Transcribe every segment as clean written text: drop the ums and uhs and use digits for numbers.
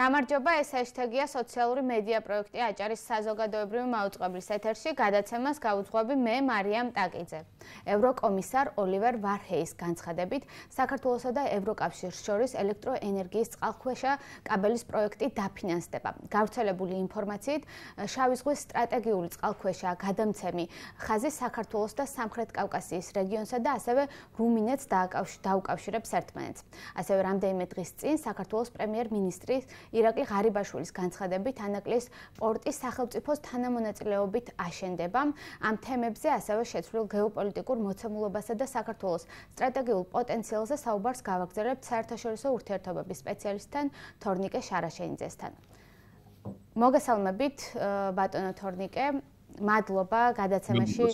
გამარჯობა, ეს ჰეშტეგია სოციალური მედია პროექტი აჭარის საზოგადოებრივი მაუწყებლის ეთერში გადაცემას გაუძღვები მე მარიამ ტაკიძე. ევროკომისარ ოლივერ ვარჰეის განცხადებით, საქართველოსა და ევროკავშირს შორის ელექტროენერგიის წყალქვეშა კაბელის პროექტი დაფინანსდება. გავრცელებული ინფორმაციით, შავი ზღვის სტრატეგიული წყალქვეშა გადამცემი ხაზი საქართველოს და სამხრეთ კავკასიის რეგიონსა და ასევე რუმინეთს დაუკავშირებს ერთმანეთს. ასევე რამდენიმე დღის წინ საქართველოს პრემიერ-მინისტრი ირაკლი ღარიბაშვილის განცხადებით ანაკლის პორტის სახელმწიფოს თანამონაწილეობით აშენდება. ამ თემებზე ასევე შეცვლილ გეოპოლიტიკურ მოცემულობასა და საქართველოს სტრატეგიულ პოტენციალზე საუბარს გავაგრძელებთ საერთაშორისო ურთიერთობების სპეციალისტთან თორნიკე შარაშენიძესთან. მოგესალმებით, ბატონო თორნიკე. მადლობა გადაცემაში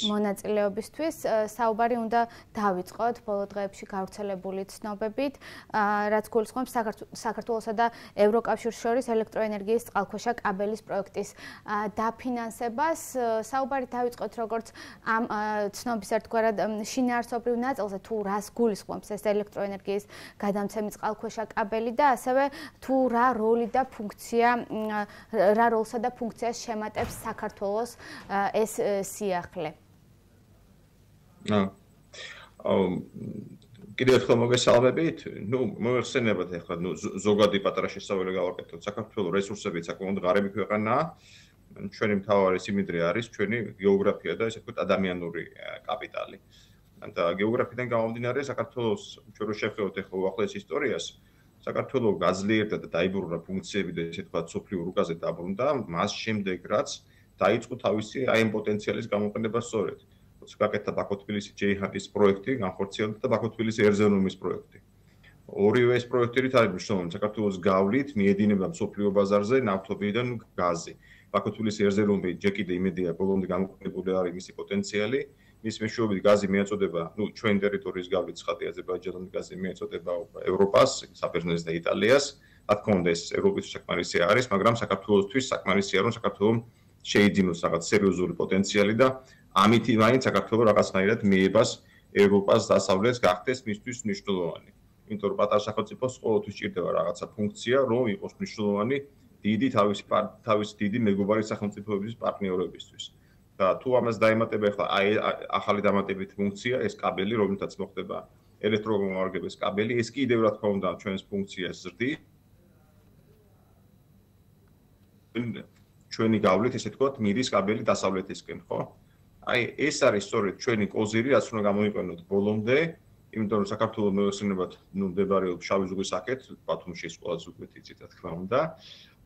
მონაწილეობისთვის. საუბარი უნდა დავიწყოთ ბოლო დღეებში გავრცელებული ცნობებით, რაც გულისხმობს საქართველოსა და ევროკავშირს შორის ელექტროენერგიის წყალქვეშა კაბელის პროექტის დაფინანსებას. საუბარი დავიწყოთ როგორც ამ ცნობის ერთგვარად შინაარსობრივ ნაწილზე, თუ რას გულისხმობს ეს ელექტროენერგიის გადამცემი წყალქვეშა კაბელი და ასევე თუ რა როლი და ფუნქცია, რა როლსა და ფუნქციას შემატებს საქართველოს ეს სიახლე. კიდევ ერთხელ მოგესალმებით. მოიხსენებათ ახლა ზოგადი პატარა შესავალი გავაკეთოთ. საქართველოს რესურსები საკმაოდ ღარიბი ქვეყანაა. ჩვენი მთავარი სიმდიდრე არის ჩვენი გეოგრაფია და ესე ვთქვათ ადამიანური კაპიტალი. და გეოგრაფიიდან გამომდინარე საქართველოს ჩვენ რო შევხედოთ ახლა უახლოეს ისტორიას, საქართველოს გაძლიერდა და დაიბრუნა ფუნქციები და ესე ვთქვათ სოფლიო რუკაზე დაბრუნდა, მას შემდეგ რაც დაიწყო თავისი აი ამ პოტენციალის გამოყენება სწორედ. როცა გაკეთდა ბაქო-თბილისი ჯეიჰანის პროექტი, განხორციელდა და ბაქო-თბილისი ერზევნუმის პროექტი. ორივე ეს პროექტი არის მნიშვნელოვანი საქართველოს გავლით მიედინება მსოფლიო ბაზარზე ნავთობიდან გაზი. ბაქო-თბილისი ერზევნუმი ჯერ კიდე იმედია ბოლომდე გამოყენებული არის მისი პოტენციალი. მის მეშვეობით გაზი მიეწოდება, ჩვენ ტერიტორიის გავლით ცხადი აზერბაიჯანული გაზი მიეწოდება ევროპას, საბერძნეთს და იტალიას. რა თქმა უნდა ეს ევროპის საკმარისი არის, მაგრამ საქართველოსთვის საკმარისია რომ საქართველოს შეიძინოს რაღაც სერიოზული პოტენციალი და ამით მაინც საქართველოს რაღაცნაირად მიებას ევროპას დასავლეთს გახდეს მისთვის მნიშვნელოვანი. იმიტომ რომ პატარა სახელმწიფოს ყოველთვის ჭირდება რაღაცა ფუნქცია, რომ იყოს მნიშვნელოვანი დიდი თავისი დიდი მეგობარი სახელმწიფოების პარტნიორებისთვის. და თუ ამას დაემატება ახლა აი ახალი დამატებითი ფუნქცია, ეს კაბელი, რომელთაც მოხდება ელექტრომომარაგების კაბელი, ეს კიდევ რა თქმა უნდა ჩვენს ფუნქციას ზრდის. ჩვენი გავლით, ესე ვთქვათ, მიდის კაბელი დასავლეთისკენ, ხო? აი, ეს არის სწორედ ჩვენი კოზირი, რაც უნდა გამოიყენოთ ბოლომდე, იმიტომ რომ საქართველოს მოიხსენებათ, მდებარეობს შავი ზღვის აქეთ, ბათუმში ეს ყველაზე უკეთ იცით, რა თქმა უნდა.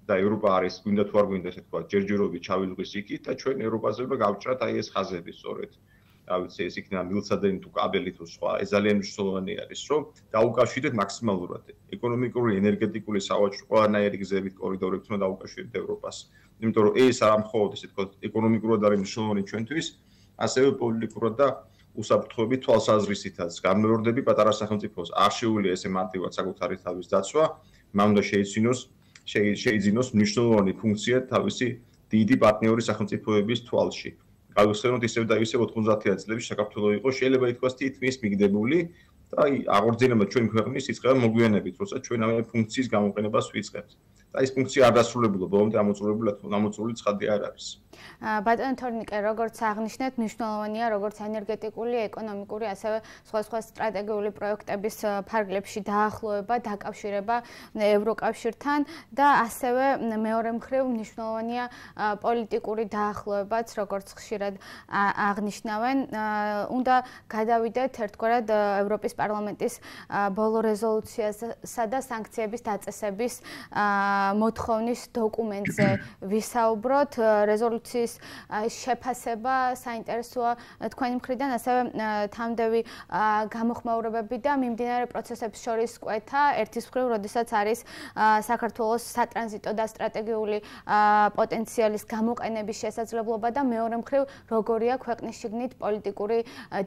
და ევროპა არის, გვინდა თუ არ გვინდა, ესე ვთქვათ, ჯერჯერობით შავი ზღვის იქით და ჩვენ ევროპაზე უნდა გავჭრათ აი ეს ხაზები სწორედ. რა ვიცი, ეს იქნება მილსადენი თუ კაბელი თუ სხვა, ეს ძალიან მნიშვნელოვანი არის, რომ დაუკავშირდეთ მაქსიმალურად ეკონომიკური, ენერგეტიკული, სავაჭრო ყველანაირი გზებით კორიდორებით უნდა დაუკავშირდეთ ევროპას. იმიტომ რომ ეს არ მხოლოდ ესე ვთქვათ, ეკონომიკურად არის მნიშვნელოვანი ჩვენთვის, ასევე პოლიტიკურად და უსაფრთხოებით თვალსაზრისითაც. გამეორდები პატარა სახელმწიფოს არ შეუძლია ესე მარტივად საკუთარი თავის დაცვა, მან უნდა შეიძინოს მნიშვნელოვანი ფუნქცია თავისი დიდი პარტნიორი სახელმწიფოების თვალში. გავიხსენოთ ისევ და ისევ 90-იან წლებში საქართველოს იყო შეიძლება ითქვას თითქმის მიგდებული და აღორძინება ჩვენ ქვეყნის იწყება მოგვიანებით, როცა ჩვენ ამ ფუნქციის გამოყენებას ვიწყებთ. და ეს ფუნქცია არ დასრულებულა, ბოლომდე ამოწურული ცხადი არ არის. ბატონო თორნიკე, როგორც აღნიშნეთ, მნიშვნელოვანია როგორც ენერგეტიკული, ეკონომიკური, ასევე სხვა სტრატეგიული პროექტების ფარგლებში დაახლოება, დაკავშირება ევროკავშირთან და ასევე მეორე მხრივ მნიშვნელოვანია პოლიტიკური დაახლოებაც, როგორც ხშირად აღნიშნავენ. უნდა გადავიდეთ ერთგვარად ევროპის პარლამენტის ბოლო რეზოლუციასა და სანქციების დაწესების მოთხოვნის დოკუმენტზე ვისაუბროთ. რეზოლუციის შეფასება საინტერესოა თქვენი მხრიდან, ასევე თამდევი გამოხმაურებები და მიმდინარე პროცესებს შორის კვეთა. ერთის მხრივ, როდესაც არის საქართველოს სატრანზიტო და სტრატეგიული პოტენციალის გამოყენების შესაძლებლობა და მეორე მხრივ, როგორია ქვეყნის შიგნით პოლიტიკური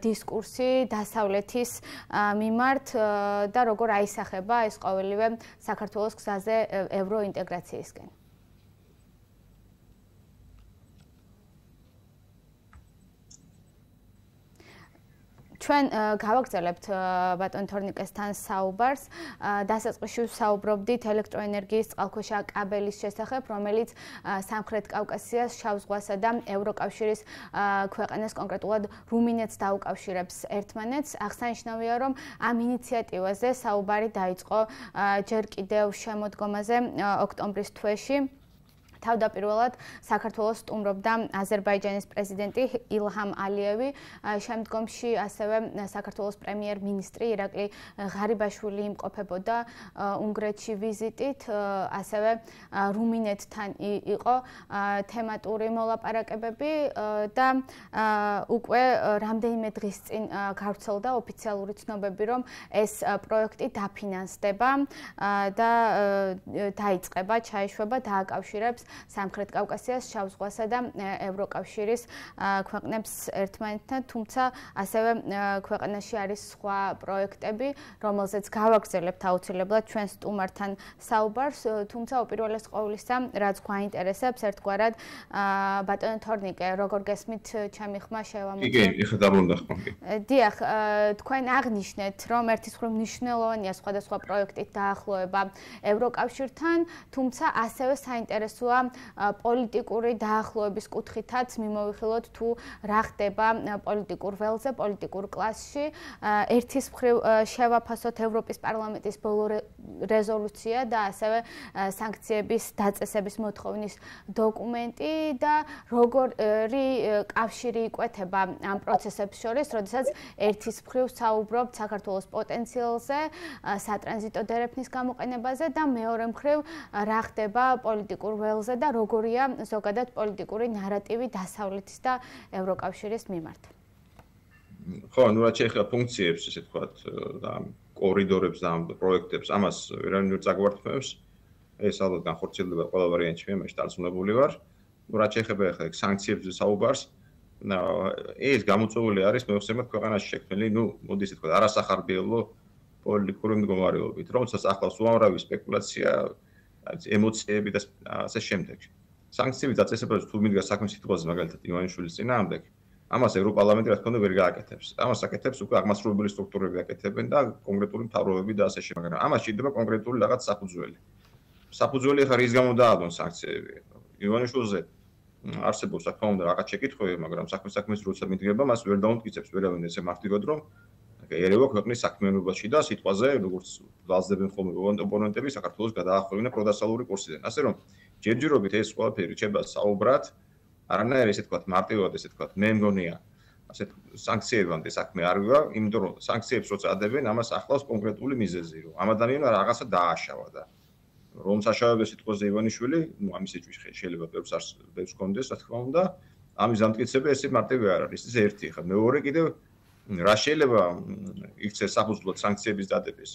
დისკურსი დასავლეთის მიმართ და როგორ აისახება ეს ყოველივე საქართველოს გზაზე ევროინტეგრაციისკენ. ჩვენ გავაგრძელებთ ბატონ თორნიკესთან საუბარს. დასაწყისში საუბრობდით ელექტროენერგიის წყალქვეშა კაბელის შესახებ, რომელიც სამხრეთ კავკასიას, შავ ზღვასა და ევროკავშირის ქვეყანას, კონკრეტულად რუმინეთს დაუკავშირებს ერთმანეთს. აღსანიშნავია, რომ ამ ინიციატივაზე საუბარი დაიწყო ჯერ კიდევ შემოდგომაზე ოქტომბრის თვეში. თავდაპირველად საქართველოს სტუმრობდა აზერბაიჯანის პრეზიდენტი ილჰამ ალიევი, შემდგომში ასევე საქართველოს პრემიერ-მინისტრი ირაკლი ღარიბაშვილი იმყოფებოდა უნგრეთში ვიზიტით, ასევე რუმინეთთან იყო თემატური მოლაპარაკებები და უკვე რამდენიმე დღის წინ გავრცელდა ოფიციალური ცნობები, რომ ეს პროექტი დაფინანსდება და დაიწყება, ჩაეშვება, დააკავშირებს სამხრეთ კავკასიას, შავ ზღვასა და ევროკავშირის ქვეყნებს ერთმანეთთან, თუმცა ასევე ქვეყანაში არის სხვა პროექტები, რომელზეც გავაგრძელებთ აუცილებლად ჩვენ სტუმართან საუბარს, თუმცა უპირველეს ყოვლისა, რაც გვაინტერესებს, ერთგვარად ბატონო თორნიკე, როგორ გესმით ჩემი ხმა შევამოწმოთ? კი, ეხლა დაბრუნდა. დიახ, თქვენ აღნიშნეთ, რომ ერთის მხრივ მნიშვნელოვანია სხვადასხვა პროექტით დაახლოება ევროკავშირთან, თუმცა ასევე საინტერესოა პოლიტიკური დაახლოების კუთხითაც მიმოვიხილოთ თუ რა ხდება პოლიტიკურ ველზე, პოლიტიკურ კლასში. ერთის მხრივ შევაფასოთ ევროპის პარლამენტის ბოლო რეზოლუცია და ასევე სანქციების დაწესების მოთხოვნის დოკუმენტი და როგორი კავშირი იკვეთება ამ პროცესებს შორის, როდესაც ერთის მხრივ საუბრობთ საქართველოს პოტენციალზე, სატრანზიტო დერეფნის გამოყენებაზე და მეორე მხრივ რა ხდება პოლიტიკურ ველზე და როგორია ზოგადად პოლიტიკური ნარატივი დასავლეთის და ევროკავშირის მიმართ. ხო, ну რაც შეეხება ფუნქციებს, ესე ვთქვათ, და კორიდორებს და პროექტებს, ამას ვერავინ წაგვართმევს. ეს ალბათ განხორციელდება ყველა ვარიანტში, მე მაშინ დარწმუნებული ვარ. ну რაც შეეხება ახლა სანქციებზე საუბარს, ეს გამოწვეული არის მეხსენებათ ქვეყანაში შექმნილი, მოდი ესე ვთქვათ, არასახარბიელო პოლიტიკური მდგომარეობით, რომელსაც ახლავს უამრავი სპეკულაცია, ემოციები და ასე შემდეგ. სანქციების დაწესებაზე თუ მიდგა საქმე სიტყვაზე, მაგალითად ივანიშვილის წინააღმდეგ, ამას ევროპარლამენტი რა თქმა უნდა ვერ გააკეთებს. ამას აკეთებს უკვე აღმასრულებელი სტრუქტურები აკეთებენ და კონკრეტული მთავრობები და ასე შემდეგ. მაგრამ ამას შეიძლება კონკრეტული რაღაც საფუძველი. საფუძველი ხარ ის გამო დაადონ სანქციები. ივანიშვილზე არსებობს რა თქმა უნდა რაღაც შეკითხვები, მაგრამ საქმის როცა მიდგება, მას ვერ დაუმტკიცებს ვერავინ ესე მარტივად რომ ერევა ქვეყნის საქმიანობაში და სიტყვაზე, როგორც ვალსდებენ ხოლმე ოპონენტები, საქართველოს გადაახვევინა პროდასალური კურსიდან. ასე რომ ჯერჯერობით ეს ყველაფერი რჩება საუბრად, არანაირი ესე ვთქვათ, მარტივად ესე ვთქვათ, მე მგონია, ასეთ სანქციებამდე საქმე არ ვივა, იმიტომ რომ სანქციებს როცა ადებენ, ამას ახლავს კონკრეტული მიზეზი, რომ ამ ადამიანმა რაღაცა დააშავა და რომ საშავების სიტყვაზე ივანიშვილი, ამის ეჭვი შეიძლება ბევრს კონდეს, რა თქმა უნდა, ამის დამტკიცება ესე მარტივი არ არის, ეს ერთი ხა, მეორე კიდევ რა შეიძლება იქცეს საფუძვლად სანქციების დადების,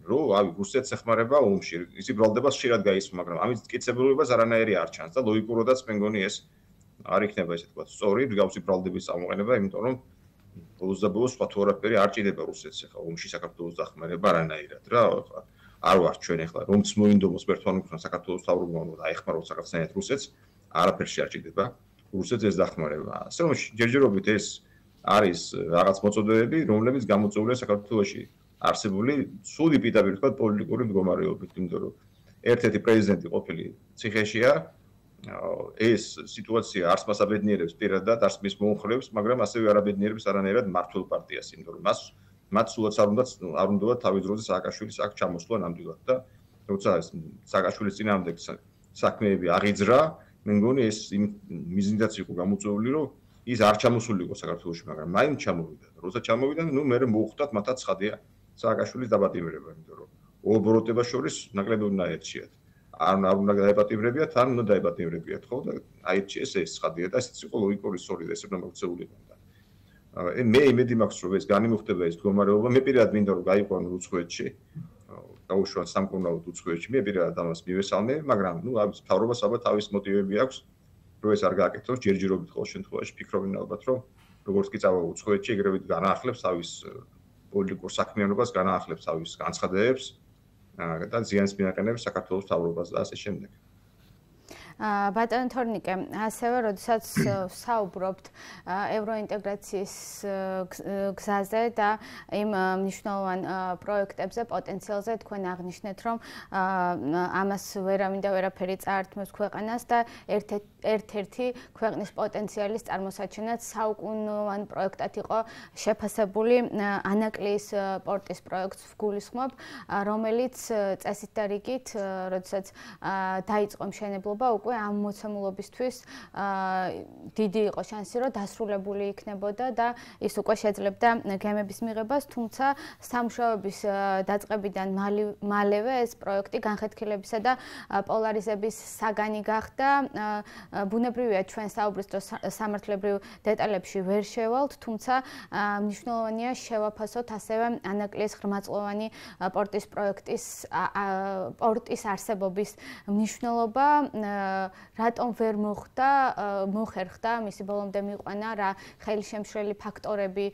რომ რუსეთს ეხმარება ომში, ისი ბრალდებას ხშირად გაისმა, მაგრამ ამის მტკიცებულობას არანაირი არ ჩანს და ლოგიკურადაც მე მგონი ეს არ იქნება ესე ვთქვათ, სწორი მსგავსი ბრალდების წარმოყენება, იმიტომ რომ ბოლოს და ბოლოს სხვა თუ არაფერი არ ჭირდება რუსეთს ახლა ომში საქართველოს დახმარება არანაირად რა, არ ვარ ჩვენ ახლა რომც მოინდომოს ერთმანეთთან საქართველოს თავრობამ და აეხმაროთ საქართველოს რუსეთს, არაფერში არ ჭირდება რუსეთს ეს დახმარება. ასე რომ ჯერჯერობით ეს არის რაღაც მოწოდებები, რომლებიც გამოწვეულია საქართველოში არსებული სული პირდაპირ თქვა პოლიტიკური მდგომარეობით, იმიტომ რომ ერთ-ერთი პრეზიდენტი ყოფილი ციხეშია, ეს სიტუაცია არც მას აბედნიერებს პირადად, არც მის მომხრეებს, მაგრამ ასევე არ აბედნიერებს არანაირად მართლ პარტიას, იმიტომ რომ მათ სულაც არ უნდა თავის დროზე სააკაშვილის აქ ჩამოსვლა ნამდვილად და როცა სააკაშვილის წინააღმდეგ საქმეები აღიძრა, მე მგონი ეს მიზნითაც იყო გამოწვეული, რომ ის არ ჩამოსულიყო საქართველოში, მაგრამ მაინც ჩამოვიდა. როცა ჩამოვიდა, მე მოუხდათ მათაც ცხადია სააკაშვილის დაპატიმრება, იმიტომ რომ ობოროტებას შორის ნაკლები უნდა ერჩიათ. არ უნდა დაეპატიმრებიათ, ან უნდა დაეპატიმრებიათ, ხო? და აირჩიეს ეს ცხადია და ესეც იყო ლოგიკური სწორი და ესე უნდა მოქცეულიყო. მე იმედი მაქვს, რომ ეს განიმუხტება ეს მდგომარეობა, მე პირადად მინდა რომ გაიყვანო უცხოეთში. გაუშვან სამკურნალოდ უცხოეთში, მე პირადად ამას მივესალმე, მაგრამ მთავრობას ალბათ თავის მოტივები აქვს. რომ ეს არ გააკეთოს ჯერჯერობით ყოველ შემთხვევაში ფიქრობენ ალბათ რომ როგორც კი წავა უცხოეთში ეგრევე განაახლებს თავის პოლიტიკურ საქმიანობას, განაახლებს თავის განცხადებებს და ზიანს მიაყენებს საქართველოს მთავრობას და ასე შემდეგ. ბატონ თორნიკე, ასევე როდესაც საუბრობთ ევროინტეგრაციის გზაზე და იმ მნიშვნელოვან პროექტებზე, პოტენციალზე, თქვენ აღნიშნეთ, რომ ამას ვერავინ და ვერაფერი წაართმევს ქვეყანას და ერთ-ერთი ქვეყნის პოტენციალის წარმოსაჩენად საუკუნოვან პროექტად იყო შეფასებული ანაკლიის პორტის პროექტს ვგულისხმობ, რომელიც წესით და რიგით, როდესაც დაიწყო მშენებლობა, უკვე ამ მოცემულობისთვის დიდი იყო შანსი, რომ დასრულებული იქნებოდა და ის უკვე შეძლებდა გემების მიღებას, თუმცა სამუშაოების დაწყებიდან მალევე ეს პროექტი განხეთქილებისა და პოლარიზების საგანი გახდა. ბუნებრივია ჩვენ საუბრის დროს სამართლებრივ დეტალებში ვერ შევალთ, თუმცა მნიშვნელოვანია შევაფასოთ ასევე ანაკლიის ღრმაწლოვანი პორტის პორტის არსებობის მნიშვნელობა, რატომ ვერ მოხერხდა მისი ბოლომდე მიყვანა, რა ხელშემშლელი ფაქტორები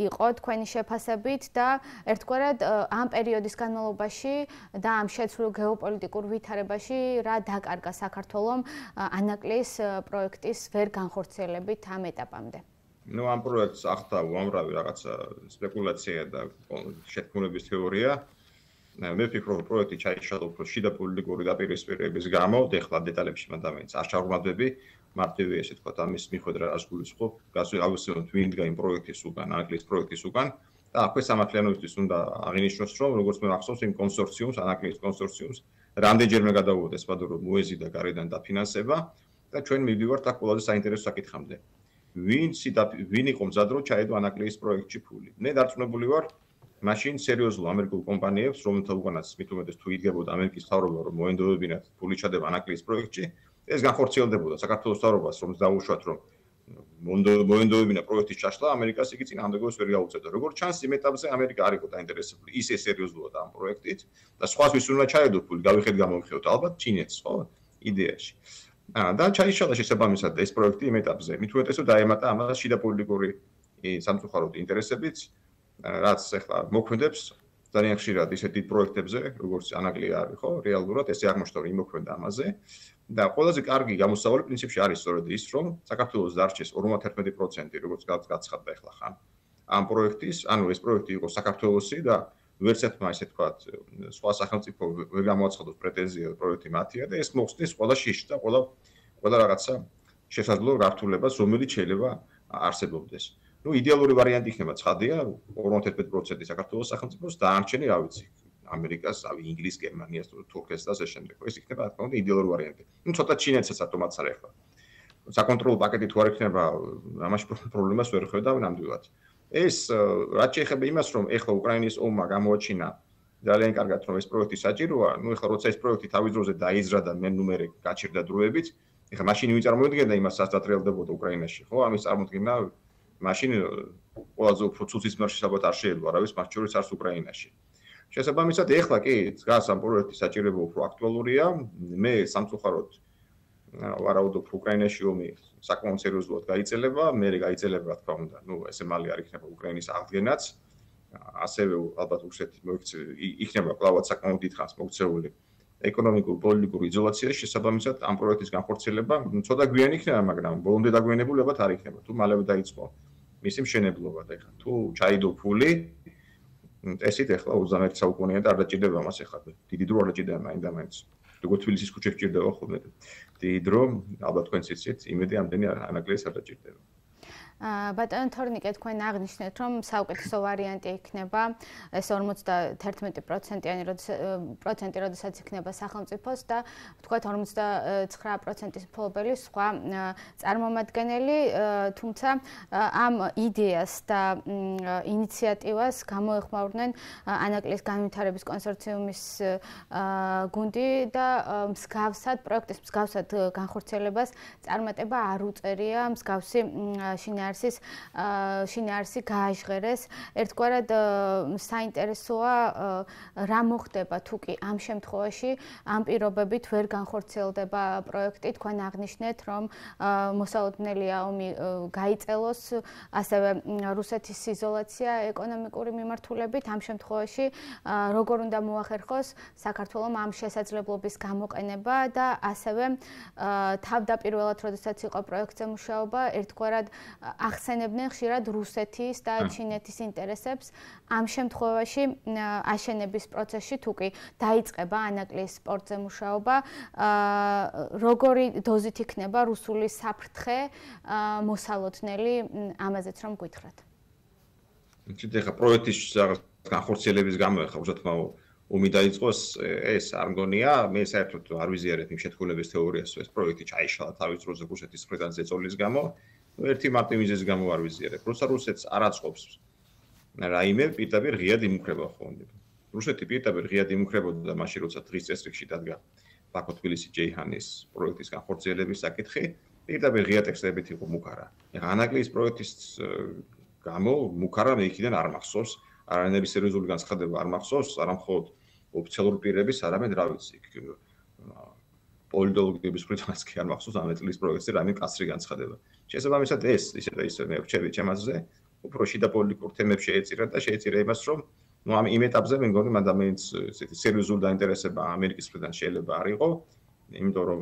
იყო თქვენი შეფასებით და ერთგვარად ამ პერიოდის განმავლობაში და ამ შეცვლილ გეოპოლიტიკურ ვითარებაში რა დაკარგა საქართველომ ანაკლიის პროექტის ვერ განხორციელებით ამ ეტაპამდე. ამ პროექტს ახდა უამრავი რაღაცა სპეკულაცია და შეთქმულების თეორია. მე ვფიქრობ, რომ პროექტი ჩაიშალა უფრო შიდა პოლიტიკური დაპირისპირების გამო, ეხლა დეტალებში მანდამეც არ ჩავღმავდები, მარტივი ესე თქვა ამის მიხედვით რაც გულისხმობ, გავსვით ვინ დგა იმ პროექტის უკან, ანაკლიის პროექტის უკან და აქვე სამართლიანობისთვის უნდა აღინიშნოს, რომ როგორც მე ახსოვს იმ კონსორციუმს, ანაკლიის კონსორციუმს, რამდენჯერმე გადაუვოდეს პადურო მოეზიდა გარედან დაფინანსება და ჩვენ მივდივართ აქ ყველაზე საინტერესო საკითხამდე. ვინ იყო მზად რომ ჩაედო ანაკლიის პროექტში ფული? მე დარწმუნებული ვარ, მაშინ სერიოზულ ამერიკულ კომპანიებს, რომელთა უკანაც მით უმეტეს თუ იდგებოდა ამერიკის მთავრობა, რომ მოენდობებინათ ფული ჩადება ანაკლიის პროექტში, ეს განხორციელდებოდა საქართველოს მთავრობას, რომ დაუშვათ, რომ მოენდობებინა პროექტის ჩაშლა, ამერიკას იგი წინააღმდეგობას ვერ გაუწევდა. როგორც ჩანს, იმ ეტაპზე ამერიკა არ იყო დაინტერესებული ისე სერიოზულად ამ პროექტით და სხვას ვის უნდა ჩაედო ფული, გავიხედ გამოვიხევთ ალბათ ჩინეთს, ხო? იდეაში. და ჩაიშალა შესაბამისად ეს პროექტი იმ ეტაპზე. მით უმეტეს რომ დაემატა ამას შიდა პოლიტიკური სამწუხაროდ ინტერესებიც, რაც ახლა მოქმედებს ძალიან ხშირად ისეთ დიდ პროექტებზე, როგორც ანაკლია არის, ხო? რეალურად ესე აღმოჩნდა რომ იმოქმედა ამაზე და ყველაზე კარგი გამოსავალი პრინციპში არის სწორედ ის, რომ საქართველოს დარჩეს 51%, როგორც გაცხადდა ახლა ხან ამ პროექტის, ანუ ეს პროექტი იყო საქართველოსი და ვერც ერთმა ესე თქვათ, სხვა სახელმწიფო ვერ გამოაცხადოს პრეტენზია პროექტი მათია და ეს მოხსნის ყველა შიში და ყველა რაღაცა შესაძლო გართულებას, რომელიც შეიძლება არსებობდეს. იდეალური ვარიანტი იქნება ცხადია 51% საქართველოს სახელმწიფოს და არჩენი, რა ვიცი, ამერიკას, ინგლისს, გერმანიას, თურქეთს და ასე შემდეგ. ეს იქნება რა თქმა უნდა იდეალური ვარიანტი. ცოტა ჩინეთსაც ატომაც არ ეხლა. საკონტროლო პაკეტი თუ არ იქნება, ამაში პრობლემას ვერ ხედავ ნამდვილად. ეს რაც შეეხება იმას, რომ ეხლა უკრაინის ომმა გამოაჩინა ძალიან კარგად, რომ ეს პროექტი საჭიროა, ეხლა როცა ეს პროექტი თავის დროზე დაიზრა და მე გაჩერდა დროებით, ეხლა მაშინ ვიწარმოედგენდა იმას, რაც დატრიალდებოდა უკრაინაში, ხო? ამის წარმოდგენა მაშინ ყველაზე უფრო ცუცის მარშის ალბათ არ შეიძლება, არავის მათ შორის არც უკრაინაში. შესაბამისად, ეხლა კი დგას ამ პროექტის საჭიროება უფრო აქტუალურია. მე სამწუხაროდ ვარაუდობ, უკრაინაში ომი საკმაოდ სერიოზულად გაიწელება, მე გაიწელება, რა თქმა უნდა, ესე მალე არ იქნება უკრაინის აღდგენაც. ასევე ალბათ უშეთ იქნება კლავად საკმაოდ დიდხანს მოქცეული ეკონომიკურ პოლიტიკურ იზოლაციაში, შესაბამისად ამ პროექტის განხორციელება ცოტა გვიანი იქნება, მაგრამ ბოლომდე დაგვიანებული ალბათ არ იქნება, თუ მალევე დაიწყო მისი მშენებლობა და ეხლა თუ ჩაიდო ფული, ესეთ ეხლა 21 საუკუნეა და არ დაჭირდება მას ეხლა. დიდი დრო არ დაჭირდება მაინდა-მაინც. როგორც თბილისის ქუჩებში ჭირდება ხოლმე. დიდი დრო, ალბათ თქვენც იცით, იმედი ამდენი ანაკლიის არ დაჭირდება. ბატონ თორნიკე, თქვენ აღნიშნეთ, რომ საუკეთესო ვარიანტი იქნება ეს 51%-იანი როდესაც იქნება სახელმწიფოს და თქვათ 59%-ის მფლობელი სხვა წარმომადგენელი, თუმცა ამ იდეას და ინიციატივას გამოეხმაურნენ ანაკლიის განვითარების კონსორციუმის გუნდი და პროექტის მსგავსად განხორციელებას წარმატება არ უწერია მსგავსი შინაარსი შინაარსი გააჟღერეს. ერთგვარად საინტერესოა რა მოხდება თუ კი ამ შემთხვევაში ამ პირობებით ვერ განხორციელდება პროექტი, თქვენ აღნიშნეთ, რომ მოსალოდნელია ომი გაიწელოს, ასევე რუსეთის იზოლაცია ეკონომიკური მიმართულებით. ამ შემთხვევაში როგორ უნდა მოახერხოს საქართველოს ამ შესაძლებლობის გამოყენება და ასევე თავდაპირველად, როდესაც იყო პროექტზე მუშაობა, ერთგვარად ახსენებდნენ ხშირად რუსეთის და ჩინეთის ინტერესებს. ამ შემთხვევაში აშენების პროცესში თუ კი დაიწყება ანაკლის სპორტზე მუშაობა, როგორი დოზით იქნება რუსული საფრთხე მოსალოდნელი, ამაზეც რომ გითხრათ. ეხლა პროექტის განხორციელების გამო ეხლა უშუალოდ ომი დაიწყოს, ეს არ მგონია, მე საერთოდ არ ვიზიარებ იმ შეთქმულების თეორიას, ეს პროექტი ჩაიშალა თავის დროზე რუსეთის მხრიდან ზეწოლის გამო, ერთი მარტივ მიზეზის გამო არ ვიზიარებ. რუსეთს არ აწყობს რაიმე პირდაპირ ღიად იმუქრება ხოლმე. რუსეთი პირდაპირ ღიად იმუქრებოდა მაშინ, როცა დღის წესრიგში დადგა ბაქო-თბილისი-ჯეიჰანის პროექტის განხორციელების საკითხი, პირდაპირ ღია ტექსტებით იყო მუქარა. ეხლა ანაკლის პროექტის გამო მუქარა მე იქიდან არ მახსოვს, არანაირი სერიოზული განცხადება არ მახსოვს, არა მხოლოდ ოფიციალური პირების, არამედ რა ვიცი, პოლიტოლოგების მხრიდანაც კი არ მახსოვს ამ წლის პროექტზე რაიმე კაცრი განცხადება. შესაბამისად ეს ისე და ისე მე ვჩები ჩემაზე, უფრო შიდა პოლიტიკურ თემებს შეეწირა და შეეწირა იმას, რომ ამ იმ ეტაპზე მე მგონი მან ადამიანს ესეთი სერიოზული დაინტერესება ამერიკის მხრიდან შეიძლება არ იყო, იმიტომ რომ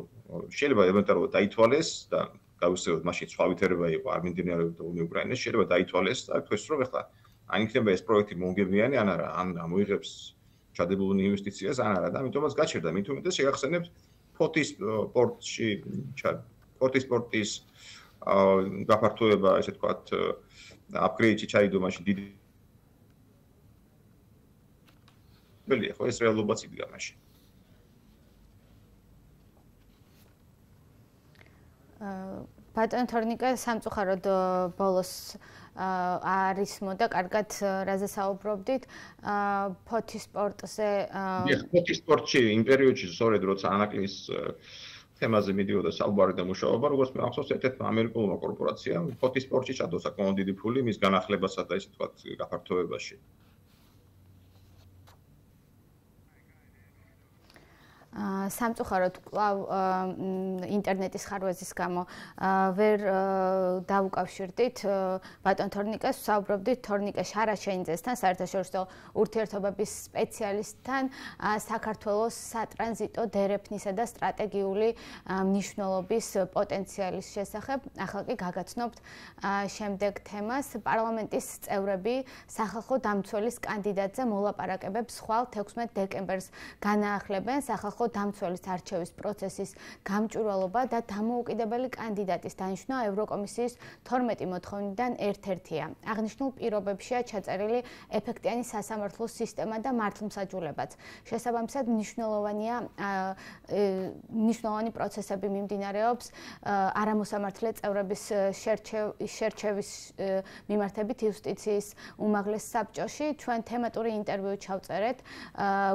შეიძლება ელემენტარულად დაითვალეს და გავიხსენოთ მაშინ სხვა ვითარება იყო არ მიმდინარეობდა ომი უკრაინაში, შეიძლება დაითვალეს და თქვეს რომ ეხლა ან იქნება ეს პროექტი მომგებიანი ან არა, ან მოიღებს ჩადებულ ინვესტიციას ან არა და ამიტომაც გაჩერდა. მით უმეტეს შეგახსენებთ ფოთის სპორტის გაფართოება, ესე ვთქვათ, აპგრეიდში ჩაიდო მაშინ დიდი ბელია, ხო ეს რეალობაც იდგა მაშინ. ბატონ თორნიკა, სამწუხაროდ ბოლოს არის მოდა, კარგად რაზე საუბრობდით, ფოთის სპორტზე. ფოთის სპორტში იმ პერიოდში სწორედ როცა ანაკლის თემაზე მიდიოდა საუბარი და მუშაობა, როგორც მე ახსოვს, ერთ-ერთი ამერიკულმა კორპორაციამ ფოთის სპორტში ჩადო საკმაოდ დიდი ფული მის განახლებასა და ისე ვთქვათ გაფართოებაში. სამწუხაროდ კვლავ ინტერნეტის ხარვეზის გამო ვერ დავუკავშირდით ბატონ თორნიკას, ვსაუბრობდით თორნიკა შარაშენიძესთან, საერთაშორისო ურთიერთობების სპეციალისტთან, საქართველოს სატრანზიტო დერეფნისა და სტრატეგიული მნიშვნელობის პოტენციალის შესახებ. ახლა კი გაგაცნობთ შემდეგ თემას. პარლამენტის წევრები სახალხო დამცველის კანდიდატზე მოლაპარაკებებს ხვალ 16 დეკემბერს განაახლებენ. სახალხო დამცველის არჩევის პროცესის გამჭვირვალობა და დამოუკიდებელი კანდიდატის დანიშვნა ევროკომისიის 12 მოთხოვნიდან ერთ-ერთია. აღნიშნულ პირობებშია ჩაწერილი ეფექტიანი სასამართლო სისტემა და მართლმსაჯულებაც. შესაბამისად მნიშვნელოვანი პროცესები მიმდინარეობს არამოსამართლე წევრების შერჩევის მიმართებით იუსტიციის უმაღლეს საბჭოში. ჩვენ თემატური ინტერვიუ ჩავწერეთ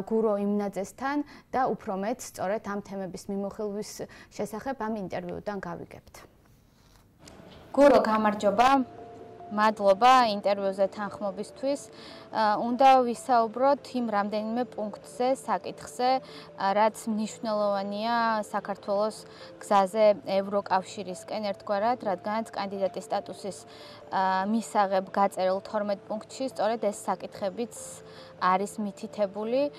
გურო იმნაძესთან და უფრო მეც სწორედ ამ თემების მიმოხილვის შესახებ ამ ინტერვიუდან გავიგებთ. გურო, გამარჯობა. მადლობა ინტერვიუზე თანხმობისთვის. უნდა ვისაუბროთ იმ რამდენიმე პუნქტზე, საკითხზე, რაც მნიშვნელოვანია საქართველოს გზაზე ევროკავშირისკენ ერთგვარად, რადგანაც კანდიდატის სტატუსის მისაღებ გაწერილ 12 პუნქტში სწორედ ეს საკითხებიც არის მითითებული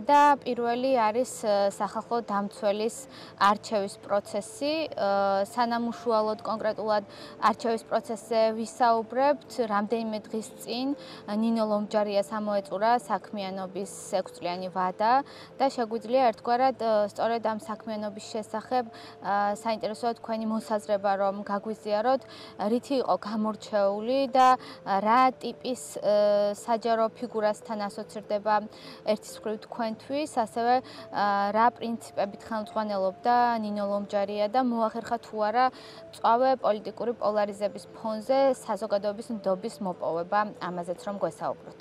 და პირველი არის სახალხო დამცველის არჩევის პროცესი. სანამ უშუალოდ კონკრეტულად არჩევის პროცესზე ვისაუბრებთ, რამდენიმე დღის წინ ნინო ლომჯარიას ამოეწურა საქმიანობის 6 წლიანი ვადა და შეგვიძლია ერთგვარად სწორედ ამ საქმიანობის შესახებ საინტერესოა თქვენი მოსაზრება, რომ გაგვიზიაროთ, რითი იყო გამორჩეული და რა ტიპის საჯარო ფიგურასთან ასოცირდება ერთის მხრივ თქვენთვის, ასევე რა პრინციპებით ხელმძღვანელობდა ნინო ლომჯარია და მოახერხა თუ არა მწვავე პოლიტიკური პოლარიზების ფონზე საზოგადოების ნდობის მოპოვება, ამაზეც რომ გვესაუბროთ.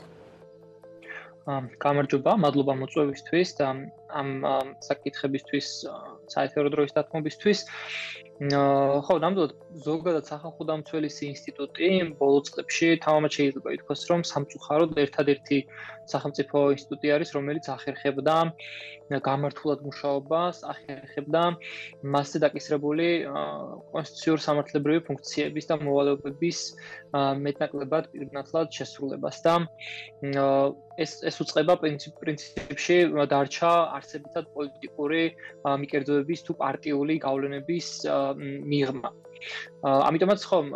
გამარჯობა, მადლობა მოწვევისთვის და ამ საკითხებისთვის საერთო დროის დათმობისთვის. ხო, ნამდვილად ზოგადად სახალხო დამცველის ინსტიტუტი ბოლო წლებში თამამად შეიძლება ითქვას, რომ სამწუხაროდ ერთადერთი სახელმწიფო ინსტიტუტი არის, რომელიც ახერხებდა გამართულად მუშაობას, ახერხებდა მასზე დაკისრებული კონსტიტუციურ-სამართლებრივი ფუნქციების და მოვალეობების მეტნაკლებად პირნათლად შესრულებას და ეს უწყება პრინციპში დარჩა არსებითად პოლიტიკური მიკერძოების თუ პარტიული გავლენების მიღმა. ამიტომაც ხომ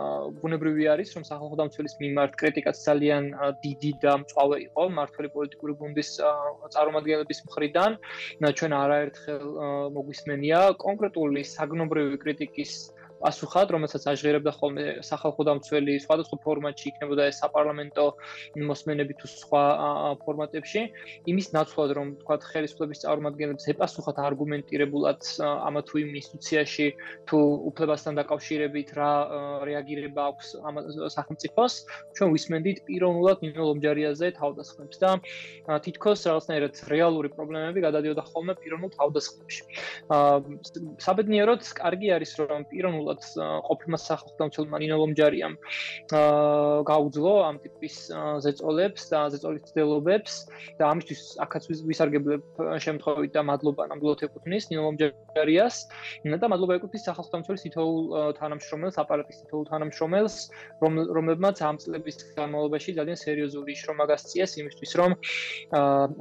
ბუნებრივი არის, რომ სახალხო დამცველის მიმართ კრიტიკაც ძალიან დიდი და მწვავე იყო მმართველი პოლიტიკური გუნდის წარმომადგენლების მხრიდან. ჩვენ არაერთხელ მოგვისმენია კონკრეტული საგნობრივი კრიტიკის პასუხად, რომელსაც აჟღერებდა ხოლმე სახალხო დამცველი სხვადასხვა ფორმატში, იქნებოდა ეს საპარლამენტო მოსმენები თუ სხვა ფორმატებში, იმის ნაცვლად, რომ თქვათ ხელისუფლების წარმომადგენლებს ეპასუხათ არგუმენტირებულად ამა თუ იმ ინსტიტუციაში თუ უფლებასთან დაკავშირებით რა რეაგირება აქვს ამ სახელმწიფოს, ჩვენ ვისმენდით პიროვნულად ნინო ლომჯარიაზე თავდასხმებს და თითქოს რაღაცნაირად რეალური პრობლემები გადადიოდა ხოლმე პიროვნულ თავდასხმებში. საბედნიეროდ, კარგი არის, რომ პიროვნულ ყოფილმა სახალხო დამცველმა ნინო ლომჯარიამ გაუძლო ამ ტიპის ზეწოლებს და ზეწოლის ცდილობებს და ამისთვის აქაც ვისარგებლებ შემთხვევით და მადლობა ნამდვილად ეკუთვნის ნინო ლომჯარიას და მადლობა ეკუთვნის სახალხო დამცველის თითოეულ თანამშრომელს, აპარატის თითოეულ თანამშრომელს, რომლებმაც ამ წლების განმავლობაში ძალიან სერიოზული შრომა გასწიეს იმისთვის, რომ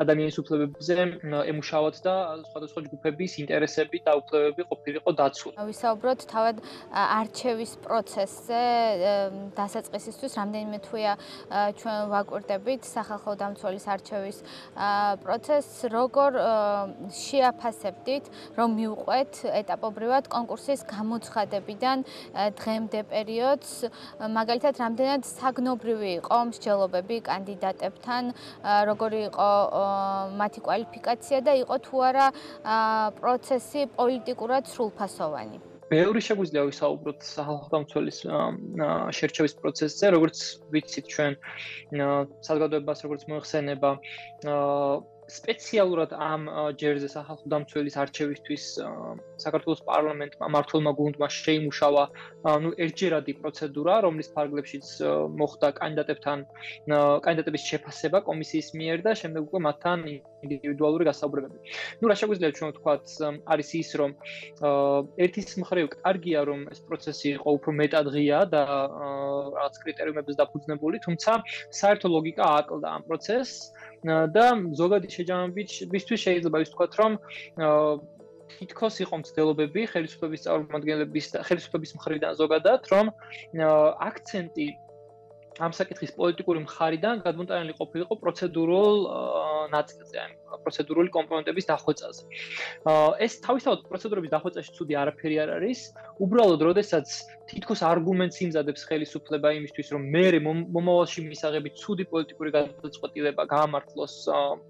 ადამიანის უფლებებზე ემუშავათ და სხვადასხვა ჯგუფების ინტერესები და უფლებები ყოფილიყო დაცული. ვისაუბროთ თავად არჩევის პროცესზე დასაწყისისთვის რამდენიმე თვეა ჩვენ ვაკვირდებით სახალხო დამცველის არჩევის პროცესს, როგორ შეაფასებდით, რომ მივყვეთ ეტაპობრივად კონკურსის გამოცხადებიდან დღემდე პერიოდს, მაგალითად რამდენად საგნობრივი იყო მსჯელობები კანდიდატებთან, როგორი იყო მათი კვალიფიკაცია და იყო თუ არა პროცესი პოლიტიკურად სრულფასოვანი. ბევრი შეგვიძლია ვისაუბროთ სახალხო დამცველის შერჩევის პროცესზე, როგორც ვიცით ჩვენ საზოგადოებას როგორც მოიხსენება სპეციალურად ამ ჯერზე სახალხო დამცველის არჩევისთვის საქართველოს პარლამენტმა მმართველმა გუნდმა შეიმუშავა ერთჯერადი პროცედურა, რომლის ფარგლებშიც მოხდა კანდიდატების შეფასება კომისიის მიერ და შემდეგ უკვე მათთან ინდივიდუალური გასაუბრებები. რა შეგვიძლია ჩვენ ვთქვათ, არის ის, რომ ერთის მხრივ კარგია, რომ ეს პროცესი იყო უფრო მეტად ღია და რაღაც კრიტერიუმებზე დაფუძნებული, თუმცა საერთო ლოგიკა აკლდა ამ პროცესს და ზოგადი შეჯამებისთვის შეიძლება ვთქვათ, რომ თითქოს იყო მცდელობები ხელისუფლების წარმომადგენლების და ხელისუფლების მხრიდან ზოგადად, რომ აქცენტი ამ საკითხის პოლიტიკური მხარიდან გადმოტანილი ყოფილიყო პროცედურულ ნაწილზე, პროცედურული კომპონენტების დახვეწაზე. ეს თავისთავად პროცედურების დახვეწაში ცუდი არაფერი არ არის, უბრალოდ როდესაც თითქოს არგუმენტს იმზადებს ხელისუფლება იმისთვის, რომ მერე მომავალში მისაღები ცუდი პოლიტიკური გადაწყვეტილება გაამართლოს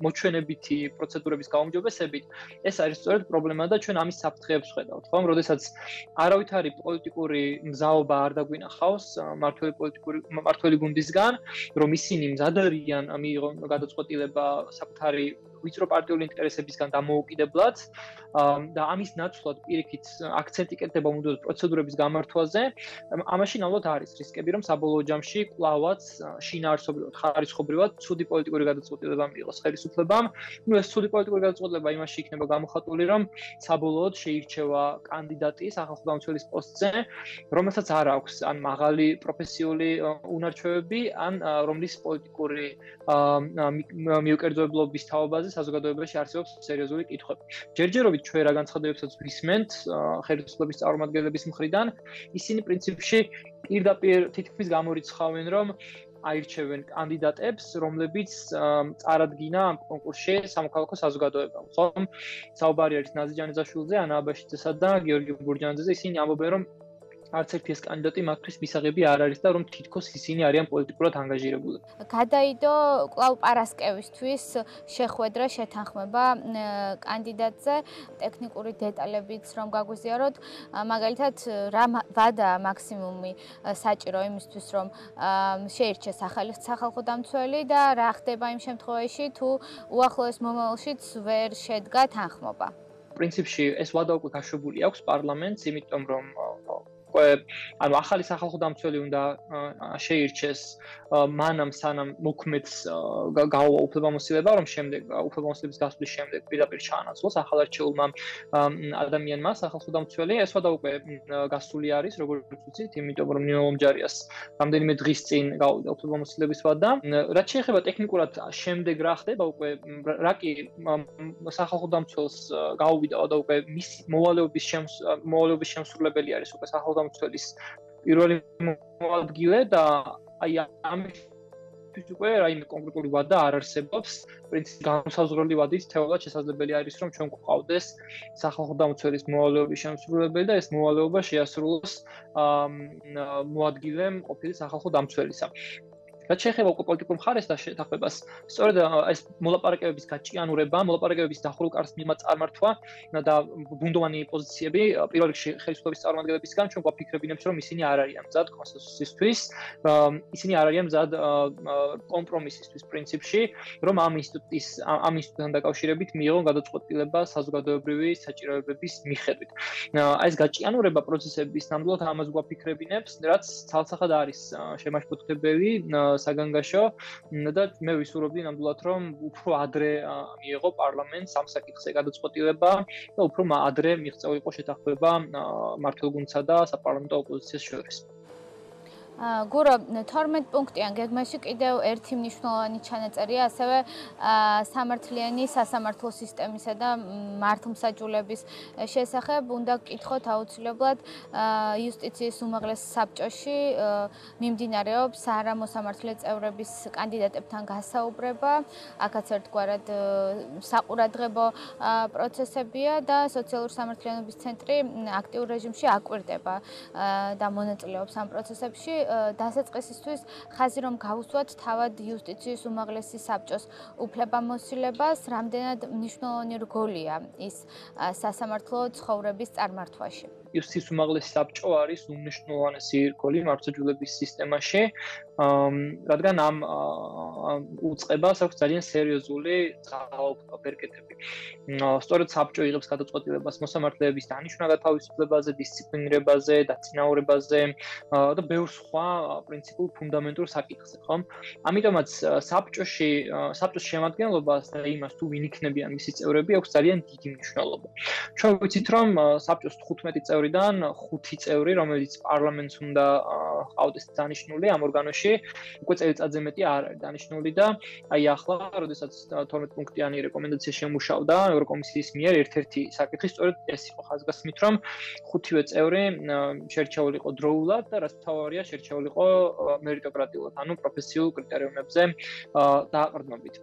მოჩვენებითი პროცედურების გაუმჯობესებით, ეს არის სწორედ პრობლემა და ჩვენ ამის საფრთხეებს ვხედავთ, ხო? როდესაც არავითარი პოლიტიკური მზაობა არ დაგვინახავს მმართველი გუნდისგან, რომ ისინი მზად არიან მიიღონ გადაწყვეტილება საკუთარი ვიწრო პარტიული ინტერესებისგან დამოუკიდებლად და ამის ნაცვლად პირიქით აქცენტი კეთდება მუდმივად პროცედურების გამართვაზე, ამაში ნამდვილად არის რისკები, რომ საბოლოო ჯამში კვლავაც შინაარსობრივად, ხარისხობრივად ცუდი პოლიტიკური გადაწყვეტილება მიიღოს ხელისუფლებამ. ეს ცუდი პოლიტიკური გადაწყვეტილება იმაში იქნება გამოხატული, რომ საბოლოოდ შეირჩევა კანდიდატი სახალხო დამცველის პოსტზე, რომელსაც არ აქვს ან მაღალი პროფესიული უნარჩვევები, ან რომლის პოლიტიკური მიუკერძოებლობის თაობაზე საზოგადოებაში არსებობს სერიოზული კითხვები. ჯერჯერობით ჩვენ რა განცხადებებსაც ვისმენთ ხელისუფლების წარმომადგენლების მხრიდან, ისინი პრინციპში პირდაპირ თითქმის გამორიცხავენ, რომ აირჩევენ კანდიდატებს, რომლებიც წარადგინა ამ კონკურსში სამოქალაქო საზოგადოებამ. ხომ საუბარი არის ნაზი ჯანიზაშვილზე, ანა აბაშიძესა და გიორგი ბურჯანაძეზე, ისინი ამბობენ, რომ არც ერთი ეს კანდიდატი მათთვის მისაღები არ არის და რომ თითქოს ისინი არიან პოლიტიკურად ანგაჟირებული. გადაიდო კვლავ პარასკევისთვის შეხვედრა შეთანხმება კანდიდატზე, ტექნიკური დეტალებიც რომ გაგვიზიაროთ, მაგალითად რა ვადა მაქსიმუმი საჭირო იმისთვის რომ შეირჩეს ახალი სახალხო დამცველი და რა ხდება იმ შემთხვევაში თუ უახლოეს მომავალშიც ვერ შედგა თანხმობა. პრინციპში ეს ვადა უკვე გაშვებული აქვს პარლამენტს, იმიტომ რომ ანუ ახალი სახალხო დამცველი უნდა შეირჩეს მანამ სანამ მოქმედს გაუვა უფლებამოსილება, რომ შემდეგ უფლებამოსილების გასვლის შემდეგ პირდაპირ ჩაანაცვლოს ახალარჩეულმა ადამიანმა სახალხო დამცველი. ეს ვადა უკვე გასული არის, როგორც ვიცით, იმიტომ რომ ნინო ლომჯარიას რამდენიმე დღის წინ გაუვიდა უფლებამოსილების ვადა. რაც შეეხება ტექნიკურად შემდეგ რა ხდება, უკვე რა კი სახალხო დამცველს გაუვიდა ვადა უკვე მის მოვალეობის შემსრულებელი არის უკვე სახალხო დამცველის პირველი მოადგილე და აი ამისთვის უკვე რაიმე კონკრეტული ვადა არ არსებობს. პრინციპი განსაზღვრელი ვადით თეორიულად შესაძლებელი არის რომ ჩვენ გვყავდეს სახალხო დამცველის მოვალეობის შემსრულებელი და ეს მოვალეობა შეასრულოს მოადგილემ ყოფილი სახალხო დამცველისა. რაც შეეხება უკვე პოლიტიკურ მხარეს და შეთანხმებას, სწორედ ეს მოლაპარაკებების გაჭიანურება, მოლაპარაკებების დახურულ კარს მიღმა წარმართვა და ბუნდოვანი პოზიციები პირველ რიგში ხელისუფლების წარმომადგენლებისგან ჩვენ გვაფიქრებინებთ, რომ ისინი არ არიან მზად კონსენსუსისთვის, ისინი არ არიან მზად კომპრომისისთვის პრინციპში, რომ ამ ინსტიტუტთან დაკავშირებით მიიღონ გადაწყვეტილება საზოგადოებრივი საჭიროებების მიხედვით. ეს გაჭიანურება პროცესების ნამდვილად ამას გვაფიქრებინებს, რაც ცალსახად არის შემაშფოთებელი საგანგაშო და მე ვისურვებდი ნამდვილად რომ უფრო ადრე მიიღო პარლამენტს ამ საკითხზე გადაწყვეტილება და უფრო ადრე მიღწეულიყო შეთანხმება მმართველ-გუნდსა და საპარლამენტო ოპოზიციას შორის. გურო 12 პუნქტიან გეგმაში კიდევ ერთი მნიშვნელოვანი ჩანაწერია ასევე სამართლიანი სასამართლო სისტემისა და მართლმსაჯულების შესახებ უნდა გკითხოთ აუცილებლად იუსტიციის უმაღლეს საბჭოში მიმდინარეობს არამოსამართლე წევრების კანდიდატებთან გასაუბრება, აქაც ერთგვარად საყურადღებო პროცესებია და სოციალური სამართლიანობის ცენტრი აქტიურ რეჟიმში აკვირდება და მონაწილეობს ამ პროცესებში. დასაწყისისთვის ხაზი რომ გავუსვათ თავად იუსტიციის უმაღლესი საბჭოს უფლებამოსილებას, რამდენად მნიშვნელოვანი რგოლია ის სასამართლო ცხოვრების წარმართვაში. იუსტიციის უმაღლესი საბჭო არის უმნიშვნელოვანესი რგოლი მართლმსაჯულების სისტემაში, რადგან ამ უწყებას აქვს ძალიან სერიოზული ძალაუფლება ბერკეტები. სწორედ საბჭო იღებს გადაწყვეტილებას მოსამართლეების დანიშვნა გათავისუფლებაზე, დისციპლინირებაზე, დაწინაურებაზე და ბევრ სხვა პრინციპულ ფუნდამენტურ საკითხზე, ხო? ამიტომაც საბჭოს შემადგენლობას და იმას თუ ვინ იქნებიან მისი წევრები აქვს ძალიან დიდი მნიშვნელობა. ჩვენ ვიცით რომ საბჭოს 15 წევრიდან 5 წევრი, რომელიც პარლამენტს უნდა ყავდეს დანიშნული ამ ორგანოში, უკვე წელიწადზე მეტი არ არის დანიშნული და აი ახლა, როდესაც 12 პუნქტიანი რეკომენდაცია შემუშავდა ევროკომისიის მიერ, ერთ-ერთი საკითხი სწორედ ეს იყო ხაზგასმით, რომ 5-ვე წევრი შერჩეულიყო დროულად და რაც თავარია შერჩეულიყო მერიტოკრატიულად, ანუ პროფესიულ კრიტერიუმებზე დააყრდნობით.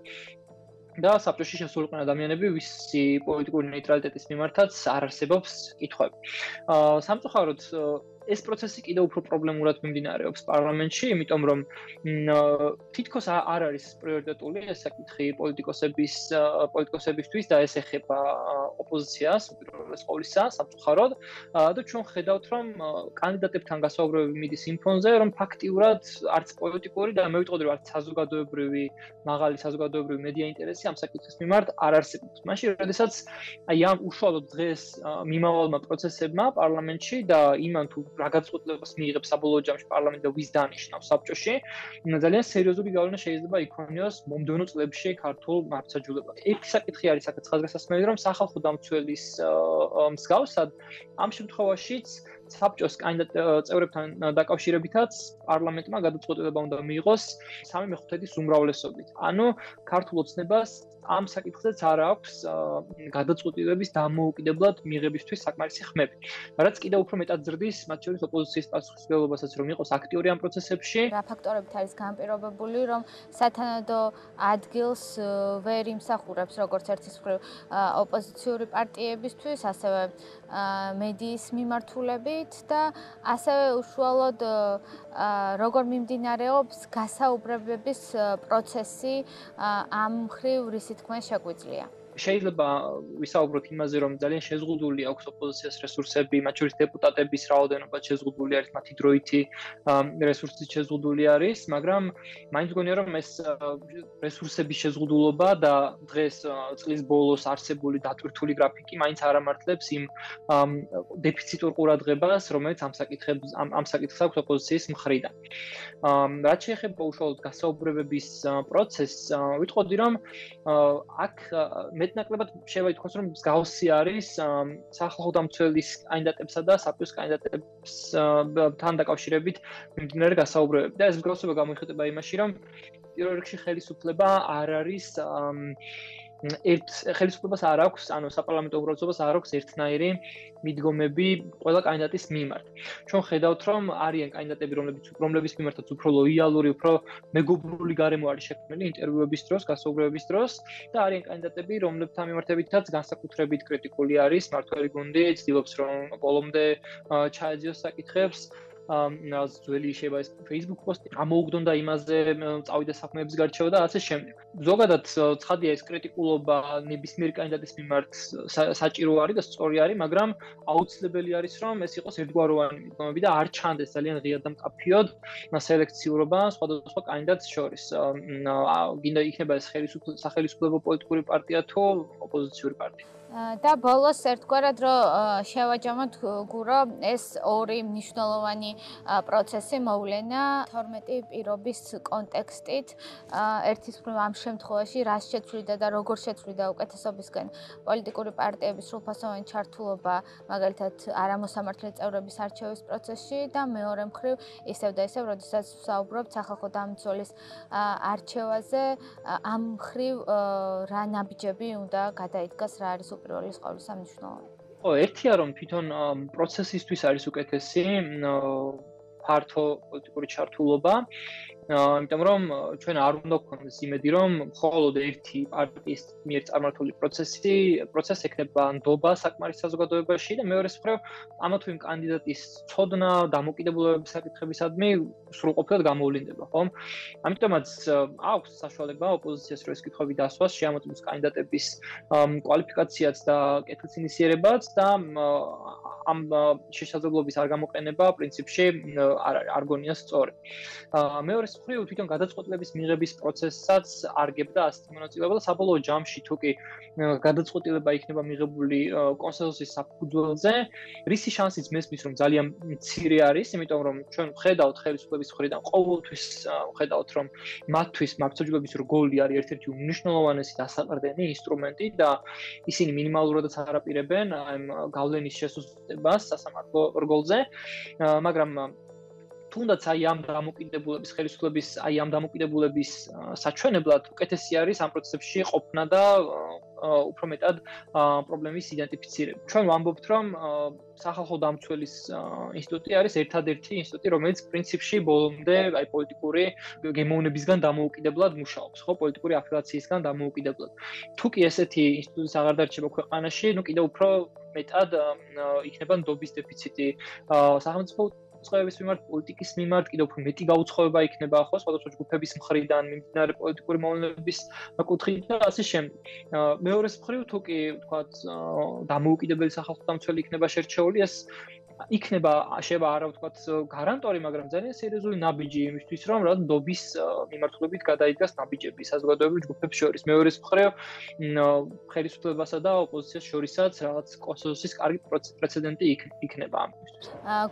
და საბჭოში შესულიყო ადამიანები, ვისი პოლიტიკური ნეიტრალიტეტის მიმართაც არ არსებობს კითხვები. სამწუხაროდ ეს პროცესი კიდევ უფრო პრობლემურად მიმდინარეობს პარლამენტში, იმიტომ რომ თითქოს არ არის პრიორიტეტული ეს საკითხი პოლიტიკოსებისთვის და ეს ეხება ოპოზიციას, უპირველეს ყოვლისა, სამწუხაროდ და ჩვენ ხედავთ რომ კანდიდატებთან გასაუბრებები მიდის იმ ფონზე, რომ ფაქტიურად არც პოლიტიკური და მე ვიტყოდი რომ არც მაღალი საზოგადოებრივი მედია ინტერესი ამ საკითხის მიმართ არ არსებობს. მაშინ, როდესაც აი ამ უშუალოდ დღეს მიმავალმა პროცესებმა პარლამენტში და იმან თუ რა გადაწყვეტილებას მიიღებს საბოლოო ჯამში პარლამენტი და ვის დანიშნავს საბჭოში, ძალიან სერიოზული გავლენა შეიძლება იქონიოს მომდევნო წლებში ქართულ მართლმსაჯულებაზე. ერთი საკითხი არის აქაც ხაზგასმელი, რომ სახალხო დამცველის მსგავსად ამ შემთხვევაშიც საბჭოს წევრებთან დაკავშირებითაც პარლამენტმა გადაწყვეტილება უნდა მიიღოს 3/5 უმრავლესობით. ანუ ქართულ ოცნებას ამ საკითხზეც არ აქვს გადაწყვეტილების დამოუკიდებლად მიღებისთვის საკმარისი ხმები. რაც კიდევ უფრო მეტად ზრდის მათ შორის ოპოზიციის პასუხისმგებლობასაც, რომ იყოს აქტიური ამ პროცესებში. რა ფაქტორებით არის განპირობებული, რომ სათანადო ადგილს ვერ იმსახურებს როგორც ერთის მხრივ ოპოზიციური პარტიებისთვის, ასევე მედიის მიმართულებით და ასევე უშუალოდ როგორ მიმდინარეობს გასაუბრებების პროცესი ამ მხრივ რისი თქმას შეგვიძლია. შეიძლება ვისაუბროთ იმაზე, რომ ძალიან შეზღუდული აქვს ოპოზიციას რესურსები, მათ შორის დეპუტატების რაოდენობა შეზღუდული არის, მათი დროითი რესურსი შეზღუდული არის, მაგრამ მაინც მგონია, რომ ეს რესურსების შეზღუდულობა და დღეს წლის ბოლოს არსებული დატვირთული გრაფიკი მაინც არ ამართლებს იმ დეფიციტურ ყურადღებას, რომელიც ამ საკითხს აქვს ოპოზიციის მხრიდან. რაც შეეხება უშუალოდ გასაუბრებების პროცესს, ვიტყოდი, რომ აქ მეტნაკლებად შეიძლება ითქვას, რომ მსგავსი არის სახალხო დამცველის კანდიდატებსა და საპიუს კანდიდატებთან დაკავშირებით მიმდინარე გასაუბრებები. და ეს მსგავსება გამოიხატება იმაში, რომ პირველ რიგში ხელისუფლება არ არის ხელისუფლებას არ აქვს, ანუ საპარლამენტო უმრავლესობას არ აქვს ერთნაირი მიდგომები ყველა კანდიდატის მიმართ. ჩვენ ხედავთ, რომ არიან კანდიდატები, რომლებიც მიმართაც უფრო ლოიალური, უფრო მეგობრული გარემო არის შექმნილი ინტერვიუების დროს, გასაუბრებების დროს და არიან კანდიდატები, რომლებთან მიმართებითაც განსაკუთრებით კრიტიკული არის მმართველი გუნდი, ცდილობს რომ ბოლომდე ჩაეძიოს საკითხებს. ძველი შეიძლება ეს Facebook პოსტი ამოუგდონ და იმაზე წავიდა საქმეების გარჩევა და ასე შემდეგ. ზოგადად ცხადია ეს კრიტიკულობა ნებისმიერ კანდიდატის მიმართ საჭირო არის და სწორი არის, მაგრამ აუცილებელი არის რომ ეს იყოს ერთგვაროვანი მიდგომები და არ ჩანდეს ძალიან ღიად და მკაფიოდ სელექციურობა სხვადასხვა კანდიდატს შორის. გინდა იქნება ეს სახელმწიფო პოლიტიკური პარტია თუ ოპოზიციური პარტია. და ბოლოს ერთგვარად რომ შევაჯამოთ გურო ეს ორი მნიშვნელოვანი პროცესი მოვლენა 12 პირობის კონტექსტით ერთის მხრივ ამ შემთხვევაში რას შეცვლიდა და როგორ შეცვლიდა უკეთესობისკენ პოლიტიკური პარტიების სრულფასოვანი ჩართულობა მაგალითად არამოსამართლე წევრების არჩევის პროცესში და მეორე მხრივ ისევ და ისევ როდესაც ვსაუბრობთ სახალხო დამცველის არჩევაზე ამ მხრივ რა ნაბიჯები უნდა გადაიდგას რა არის პირველი ყოვლისა მნიშვნელოვანი. ერთია რომ თვითონ პროცესისთვის არის უკეთესი ფართო პოლიტიკური ჩართულობა, იმიტომ რომ ჩვენ არ უნდა გვქონდეს იმედი რომ მხოლოდ ერთი პარტიის მიერ წარმართული პროცესი ექნება ნდობა საკმარის საზოგადოებაში და მეორე მხრივ ამა თუ იმ კანდიდატის ცოდნა, დამოკიდებულებების საკითხებისადმი სრულყოფილად გამოვლინდება, ხო? ამიტომაც აქვს საშუალება ოპოზიციას რო ეს კითხვები დასვას, შეამოწმოს კანდიდატების კვალიფიკაციაც და კეთილსინისიერებაც და ამ შესაძლებლობის არ გამოყენება პრინციპში არ გონია სწორი. მეორე მხრივ თვითონ გადაწყვეტილების მიღების პროცესსაც არგებდა ასეთი მონაწილეობა და საბოლოო ჯამში თუ კი გადაწყვეტილება იქნება მიღებული კონსენსუსის საფუძველზე, რისი შანსიც მესმის რომ ძალიან მცირე არის, იმიტომ რომ ჩვენ ვხედავთ ხელისუფლების მხრიდან ყოველთვის ვხედავთ რომ მათთვის მართლმსაჯულების რგოლი არის ერთ-ერთი უმნიშვნელოვანესი დასაყრდენი ინსტრუმენტი და ისინი მინიმალურადაც არ აპირებენ ამ გავლენის შესუსტებას სასამართლო რგოლზე, მაგრამ თუნდაც აი ამ დამოკიდებულების ხელისუფლების აი ამ დამოკიდებულების საჩვენებლად უკეთესი არის ამ პროცესებში ყოფნა და უფრო მეტად პრობლემის იდენტიფიცირება. ჩვენ ვამბობთ რომ სახალხო დამცველის ინსტიტუტი არის ერთადერთი ინსტიტუტი, რომელიც პრინციპში ბოლომდე აი პოლიტიკური გემოვნებისგან დამოუკიდებლად მუშაობს, ხო, პოლიტიკური აფილაციისგან დამოუკიდებლად. თუ კი ესეთი ინსტიტუტის აღარ დარჩება ქვეყანაში, ნუ კიდევ უფრო მეტად იქნება ნდობის დეფიციტი სახელმწიფო წყევების მიმართ, პოლიტიკის მიმართ, კიდევ უფრო მეტი გაუცხოება იქნება ხო სხვადასხვა ჯგუფების მხრიდან მიმდინარე პოლიტიკური მოვლენების კუთხით და ასე შემდეგ. მეორეს მხრივ თუ კი ვთქვათ დამოუკიდებელი სახალხო დამცველი იქნება შერჩეული, ეს იქნება შეიძლება არა ვთქვათ გარანტორი, მაგრამ ძალიან სერიოზული ნაბიჯი იმისთვის, რომ რა ნდობის მიმართულებით გადაიდგას ნაბიჯები საზოგადოებრივ ჯგუფებს შორის. მეორეს მხრივ ხელისუფლებასა და ოპოზიციას შორისაც რაღაც კონსენსუსის კარგი პრეცედენტი იქნება ამისთვის.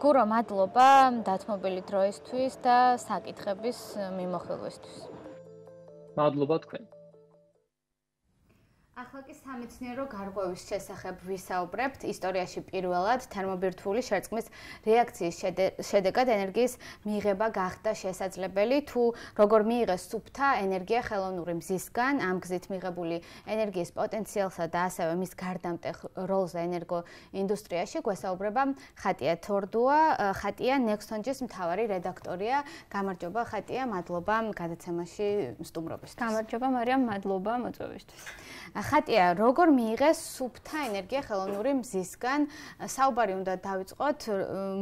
გურო, მადლობა დათმობილი დროისთვის და საკითხების მიმოხილვისთვის. მადლობა თქვენ. ახლა კი სამეცნიერო გარღვევის შესახებ ვისაუბრებთ. ისტორიაში პირველად თერმობირთვული შერწყმის რეაქციის შედეგად ენერგიის მიღება გახდა შესაძლებელი, თუ როგორ მიიღეს სუფთა ენერგია ხელოვნური მზისგან, ამ გზით მიღებული ენერგიის პოტენციალსა და ასევე მის გარდამტეხ როლზე ენერგოინდუსტრიაში გვესაუბრება ხატია თორდუა. ხატია Nextonjis მთავარი რედაქტორია. გამარჯობა ხატია, მადლობა გადაცემაში სტუმრობისთვის. გამარჯობა მარიამ, მადლობა მოწვევისთვის. ხატია, როგორ მიიღეს სუფთა ენერგია ხელოვნური მზისგან? საუბარი უნდა დავიწყოთ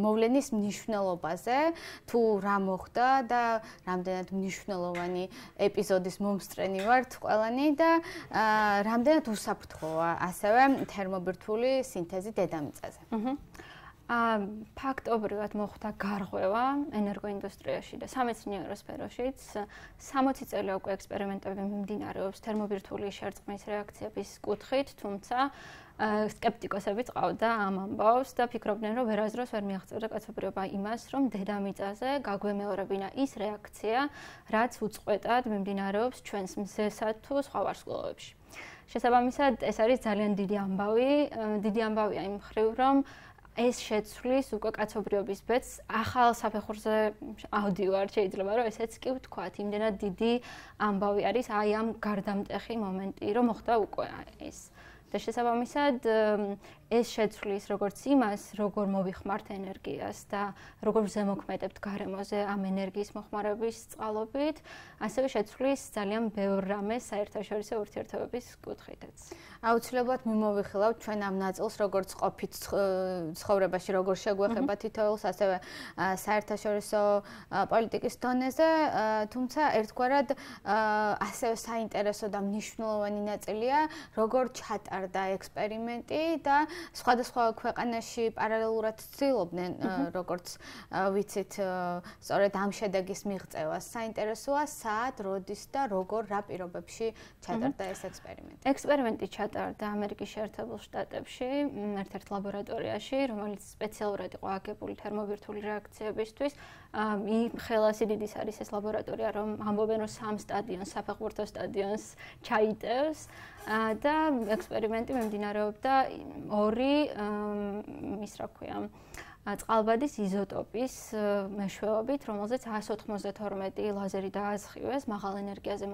მოვლენის მნიშვნელობაზე, თუ რა მოხდა და რამდენად მნიშვნელოვანი ეპიზოდის მომსწრენი ვართ ყველანი და რამდენად უსაფრთხოა ასევე თერმობირთვული სინთეზი დედამიწაზე. ფაქტობრივად მოხდა გარღვევა ენერგოინდუსტრიაში და სამეცნიერო სფეროშიც 60 წელი უკვე ექსპერიმენტები მიმდინარეობს თერმობირთვული შერწყმის რეაქციების კუთხით, თუმცა სკეპტიკოსებიც ყავდა ამ ამბავს და ფიქრობდნენ, რომ ვერასდროს ვერ მიაღწევდა კაცობრიობა იმას, რომ დედამიწაზე გაგვემეორებინა ის რეაქცია, რაც უწყვეტად მიმდინარეობს ჩვენს მზესა თუ სხვა ვარსკვლავებში. შესაბამისად, ეს არის ძალიან დიდი ამბავია იმ მხრივ, რომ ეს შეცვლის უკვე კაცობრიობის ბედს ახალ საფეხურზე ავდივარ, შეიძლება რომ ესეც კი ვთქვათ, იმდენად დიდი ამბავი არის აი ამ გარდამტეხი მომენტი, რომ მოხდა უკვე ეს. და შესაბამისად ეს შეცვლის როგორც იმას, როგორ მოვიხმართ ენერგიას და როგორ ზემოქმედებთ გარემოზე ამ ენერგიის მოხმარების წყალობით, ასევე შეცვლის ძალიან ბევრ რამეს საერთაშორისო ურთიერთობების კუთხითაც. აუცილებლად მიმოვიხილავთ ჩვენ ამ ნაწილს, როგორც ყოფით ცხოვრებაში, როგორ შეგვეხება თითოეულს, ასევე საერთაშორისო პოლიტიკის დონეზე, თუმცა ერთგვარად ასევე საინტერესო და მნიშვნელოვანი ნაწილია, როგორ ჩატარდა ექსპერიმენტი და სხვადასხვა ქვეყანაში პარალელურად ცდილობდნენ, როგორც ვიცით, სწორედ ამ შედეგის მიღწევას. საინტერესოა, სად, როდის და როგორ, რა პირობებში ჩატარდა ეს ექსპერიმენტი. ექსპერიმენტი ჩატარდა ამერიკის შეერთებულ შტატებში, ერთ-ერთ ლაბორატორიაში, რომელიც სპეციალურად იყო აგებული თერმობირთვული რეაქციებისთვის. ხელა სიდიდის არის ეს ლაბორატორია, რომ ამბობენ, რომ 3 სტადიონს, საფეხბურთო სტადიონს ჩაიტევს და ექსპერიმენტი მიმდინარეობდა 2 ის რა ქვია წყალბადის იზოტოპის მეშვეობით, რომელზეც 192 ლაზერი დაასხივეს, მაღალ ენერგიაზე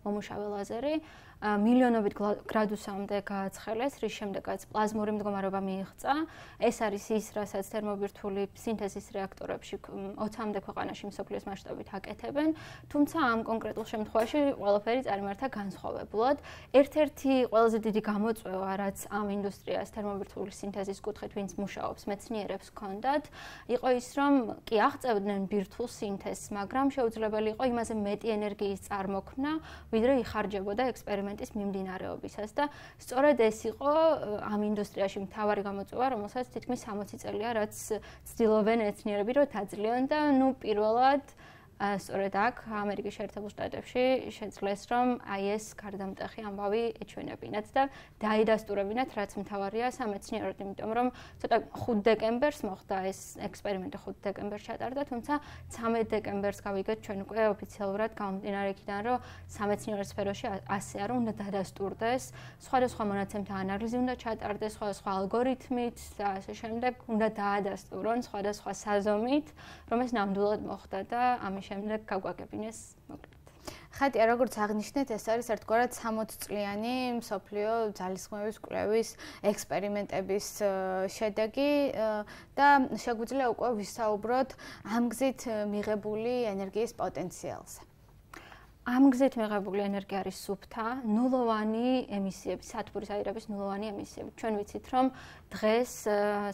მომუშავე ლაზერი, მილიონობით გრადუსამდე გააცხელეს, რის შემდეგაც პლაზმური მდგომარეობა მიიღწა. ეს არის ის, რასაც თერმობირთვული სინთეზის რეაქტორებში 20-მდე ქვეყანაში მსოფლიოს მასშტაბით აკეთებენ, თუმცა ამ კონკრეტულ შემთხვევაში ყველაფერი წარიმართა განსხვავებულად. ერთ-ერთი ყველაზე დიდი გამოწვევა, რაც ამ ინდუსტრიას თერმობირთვული სინთეზის კუთხით ვინც მუშაობს, მეცნიერებს ჰქონდათ, იყო ის, რომ კი აღწევდნენ ბირთვულ სინთეზს, მაგრამ შეუძლებელი იყო იმაზე მეტი ენერგიის წარმოქმნა, ვიდრე იხარჯებოდა ექსპერიმენტის მიმდინარეობისას და სწორედ ეს იყო ამ ინდუსტრიაში მთავარი გამოწვევა, რომელსაც თითქმის 60 წელია, რაც ცდილობენ მეცნიერები, რომ დაძლევენ და პირველად სწორედ აქ ამერიკის შეერთებულ შტატებში შეძლეს, რომ აი ეს გარდამტეხი ამბავი ეჩვენებინათ და დაიდასტურებინათ, რაც მთავარია სამეცნიეროდ, იმიტომ რომ ცოტა 5 დეკემბერს მოხდა ეს ექსპერიმენტი, 5 დეკემბერს ჩატარდა, თუმცა 13 დეკემბერს გავიგეთ ჩვენ უკვე ოფიციალურად გამომდინარე იქიდან, რომ სამეცნიერო სფეროში ასეა, რომ უნდა დადასტურდეს, სხვადასხვა მონაცემთა ანალიზი უნდა ჩატარდეს, სხვადასხვა ალგორითმით და ასე შემდეგ, უნდა დაადასტურონ სხვადასხვა საზომით, რომ ეს ნამდვილად მოხდა და ამის შემდეგ გაგვაგებინეს მოკლედ. ხატია, როგორც აღნიშნეთ, ეს არის ერთგვარად 60 წლიანი მსოფლიო ძალისხმევის კვლევის ექსპერიმენტების შედეგი და შეგვიძლია უკვე ვისაუბროთ ამ გზით მიღებული ენერგიის პოტენციალზე. ამ გზით მიღებული ენერგია არის სუფთა, ნულოვანი ემისიები, სათბურის აირების ნულოვანი ემისიები. ჩვენ ვიცით, რომ დღეს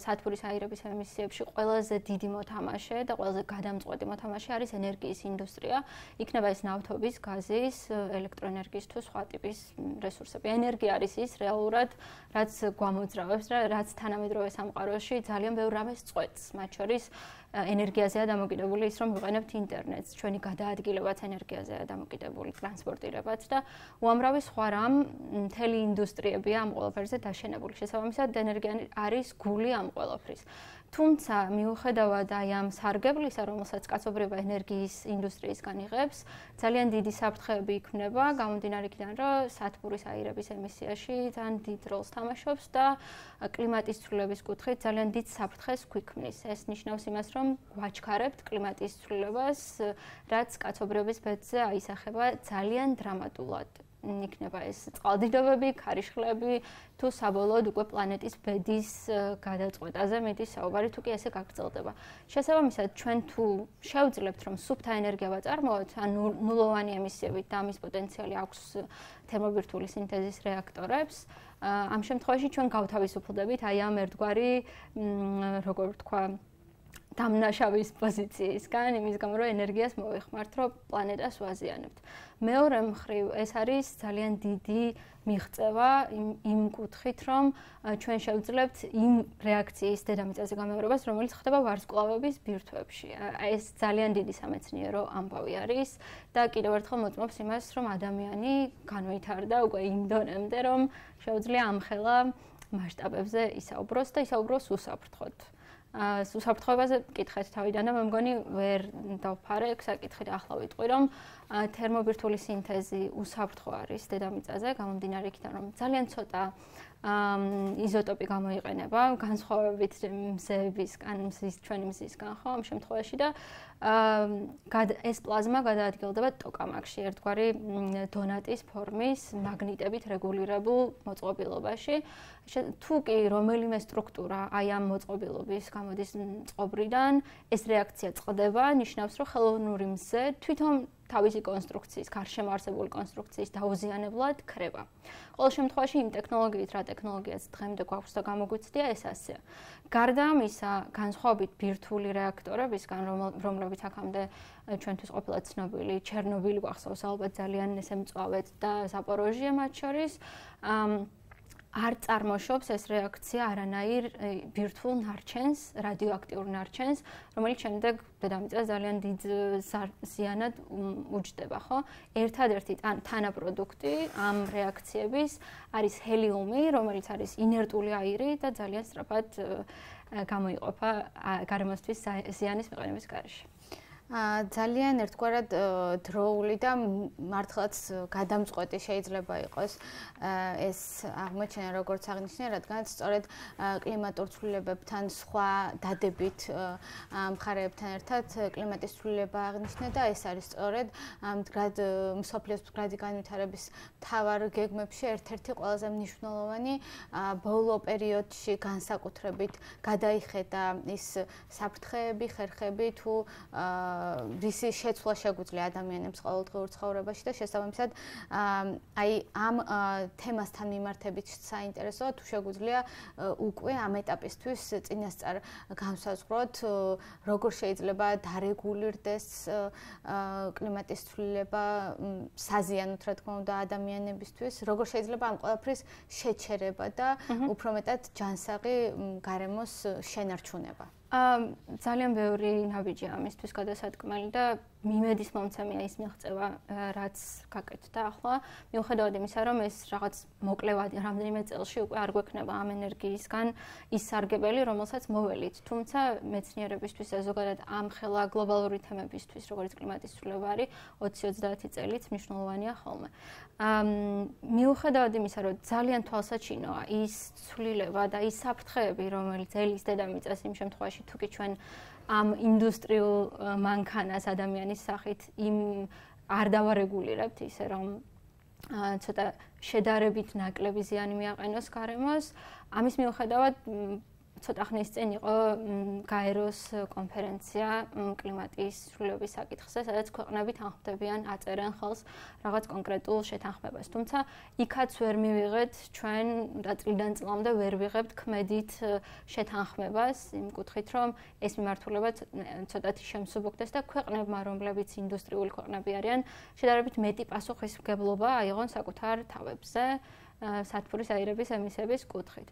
სათბურის აირების ემისიებში ყველაზე დიდი მოთამაშე და ყველაზე გადამწყვეტი მოთამაშე არის ენერგიის ინდუსტრია. იქნება ეს ნავთობის, გაზის, ელექტროენერგიის თუ სხვა ტიპის რესურსები. ენერგია არის ის რეალურად, რაც გვამოძრავებს და რაც თანამედროვე სამყაროში ძალიან ბევრ რამეს წყვეტს, მათ შორის ენერგიაზეა დამოკიდებული ის, რომ ვიყენებთ ინტერნეტს, ჩვენი გადაადგილებაც ენერგიაზეა დამოკიდებული, ტრანსპორტირებაც და უამრავი სხვა რამ მთელი ინდუსტრიებია ამ ყველაფერზე დაშენებული. შესაბამისად, ენერგია არის გული ამ ყველაფრის. თუმცა მიუხედავად აი ამ სარგებლისა, რომელსაც კაცობრიობა ენერგიის ინდუსტრიისგან იღებს, ძალიან დიდი საფრთხეები იქმნება, გამომდინარე იქიდან, რომ სათბურის აირების ემისიაში ძალიან დიდ როლს თამაშობს და კლიმატის ცვლილების კუთხით ძალიან დიდ საფრთხეს გვიქმნის. ეს ნიშნავს იმას, რომ გვაჩქარებთ კლიმატის ცვლილებას, რაც კაცობრიობის ბედზე აისახება ძალიან დრამატულად. იქნება ეს წყალდიდობები, ქარიშხლები თუ საბოლოოდ უკვე პლანეტის ბედის გადაწყვეტაზე მეტის საუბარი თუ კი ესე გაგრძელდება. შესაბამისად, ჩვენ თუ შევძლებთ რომ სუფთა ენერგია ვაწარმოოთ, ან ნულოვანი ემისიებით და ამის პოტენციალი აქვს თერმობირთვული სინთეზის რეაქტორებს, ამ შემთხვევაში ჩვენ გავთავისუფლდებით აი ამ ერთგვარი, როგორ ვთქვა, დამნაშავის პოზიციისგან, იმის გამო რომ ენერგიას მოვიხმართ, რომ პლანეტას ვაზიანებთ. მეორე მხრივ, ეს არის ძალიან დიდი მიღწევა იმ კუთხით, რომ ჩვენ შევძლებთ იმ რეაქციის დედამიწაზე გამეორებას, რომელიც ხდება ვარსკვლავების ბირთვებში. ეს ძალიან დიდი სამეცნიერო ამბავი არის და კიდევ ერთხელ მოწმობს იმას, რომ ადამიანი განვითარდა უკვე იმ დონემდე, რომ შეუძლია ამხელა მასშტაბებზე ისაუბროს და ისაუბროს უსაფრთხოდ. უსაფრთხოებაზე კითხეთ თავიდან და მე მგონი ვერ დავფარებ საკითხი და ახლა ვიტყვი რომ თერმობირთვული სინთეზი უსაფრთხო არის დედამიწაზე გამომდინარე იქიდან რომ ძალიან ცოტა იზოტოპი გამოიყენება განსხვავებით მზეებისგან ჩვენი მზისგან ხო ამ შემთხვევაში და ეს პლაზმა გადაადგილდება ტოკამაკში ერთგვარი დონატის ფორმის მაგნიტებით რეგულირებულ მოწყობილობაში თუ კი რომელიმე სტრუქტურა აი ამ მოწყობილობის გამოდის წყობრიდან ეს რეაქცია წყდება ნიშნავს რომ ხელოვნური მზე თვითონ თავისი კონსტრუქციის, გარშემო არსებული კონსტრუქციის დაუზიანებლად ქრება. ყოველ შემთხვევაში იმ ტექნოლოგიით, რა ტექნოლოგიაც დღემდე გვაქვს და გამოგვიცდია, ეს ასეა. გარდა ამისა, განსხვავებით ბირთვული რეაქტორებისგან, რომლებიც აქამდე ჩვენთვის ყოფილა ცნობილი, ჩერნობილი გვახსოვს ალბათ ძალიან ესე მწვავედ და ზაპოროჟიე მათ შორის, არ წარმოშობს ეს რეაქცია არანაირ ბირთვულ ნარჩენს, რადიოაქტიურ ნარჩენს, რომელიც შემდეგ დედამიწას ძალიან დიდ ზიანად უჯდება, ხო? ერთადერთი თანაპროდუქტი ამ რეაქციების არის ჰელიუმი, რომელიც არის ინერტული აირი და ძალიან სწრაფად გამოიყოფა გარემოსთვის ზიანის მიყენების გარეშე. ძალიან ერთგვარად დროული და მართლაც გადამწყვეტი შეიძლება იყოს ეს აღმოჩენა როგორც აღნიშნე, რადგან სწორედ კლიმატურ ცვლილებებთან სხვა დადებით მხარეებთან ერთად კლიმატის ცვლილება აღნიშნე და ეს არის სწორედ მდგრად მსოფლიოს მდგრადი განვითარების მთავარ გეგმებში ერთ-ერთი ყველაზე მნიშვნელოვანი ბოლო პერიოდში განსაკუთრებით გადაიხედა ის საფრთხეები, ხერხები თუ რისი შეცვლა შეგვიძლია ადამიანებს ყოველდღიურ ცხოვრებაში და შესაბამისად აი ამ თემასთან მიმართებით საინტერესოა თუ შეგვიძლია უკვე ამ ეტაპისთვის წინასწარ განსაზღვროთ როგორ შეიძლება დარეგულირდეს კლიმატის ცვლილება საზიანოთ რა თქმა უნდა ადამიანებისთვის როგორ შეიძლება ამ ყველაფრის შეჩერება და უფრო მეტად ჯანსაღი გარემოს შენარჩუნება ძალიან ბევრი ნაბიჯია ამისთვის გადასადგმელი და მიმედის მომცემია ის მიღწევა რაც გაკეთდა ახლა მიუხედავად იმისა რომ ეს რაღაც მოკლევად რამდენიმე წელში უკვე არ გვექნება ამ ენერგიისგან ის სარგებელი რომელსაც მოველით თუმცა მეცნიერებისთვის და ზოგადად ამ ხელა გლობალური თემებისთვის როგორც კლიმატის ცვლილება არის 20-30 წელიც მნიშვნელოვანია ხოლმე მიუხედავად იმისა რომ ძალიან თვალსაჩინოა ის ცვლილება და ის საფრთხეები რომელიც ელის დედამიწას იმ შემთხვევაში თუ კი ჩვენ ამ ინდუსტრიულ მანქანას ადამიანის სახით იმ არ დავარეგულირებთ ისე რომ ცოტა შედარებით ნაკლები ზიანი მიაყენოს გარემოს ამის მიუხედავად ცოტა ხნის წინ იყო გაეროს კონფერენცია კლიმატის ცვლილების საკითხზე, სადაც ქვეყნები თანხმდებიან, აწერენ ხელს რაღაც კონკრეტულ შეთანხმებას. თუმცა იქაც ვერ მივიღეთ ჩვენ და წლიდან წლამდე ვერ ვიღებთ ქმედით შეთანხმებას იმ კუთხით, რომ ეს მიმართულება ცოტათი შემსუბუქდეს და ქვეყნებმა, რომლებიც ინდუსტრიული ქვეყნები არიან, შედარებით მეტი პასუხისმგებლობა აიღონ საკუთარ თავებზე. სათბურის აირების ემისიების კუთხით.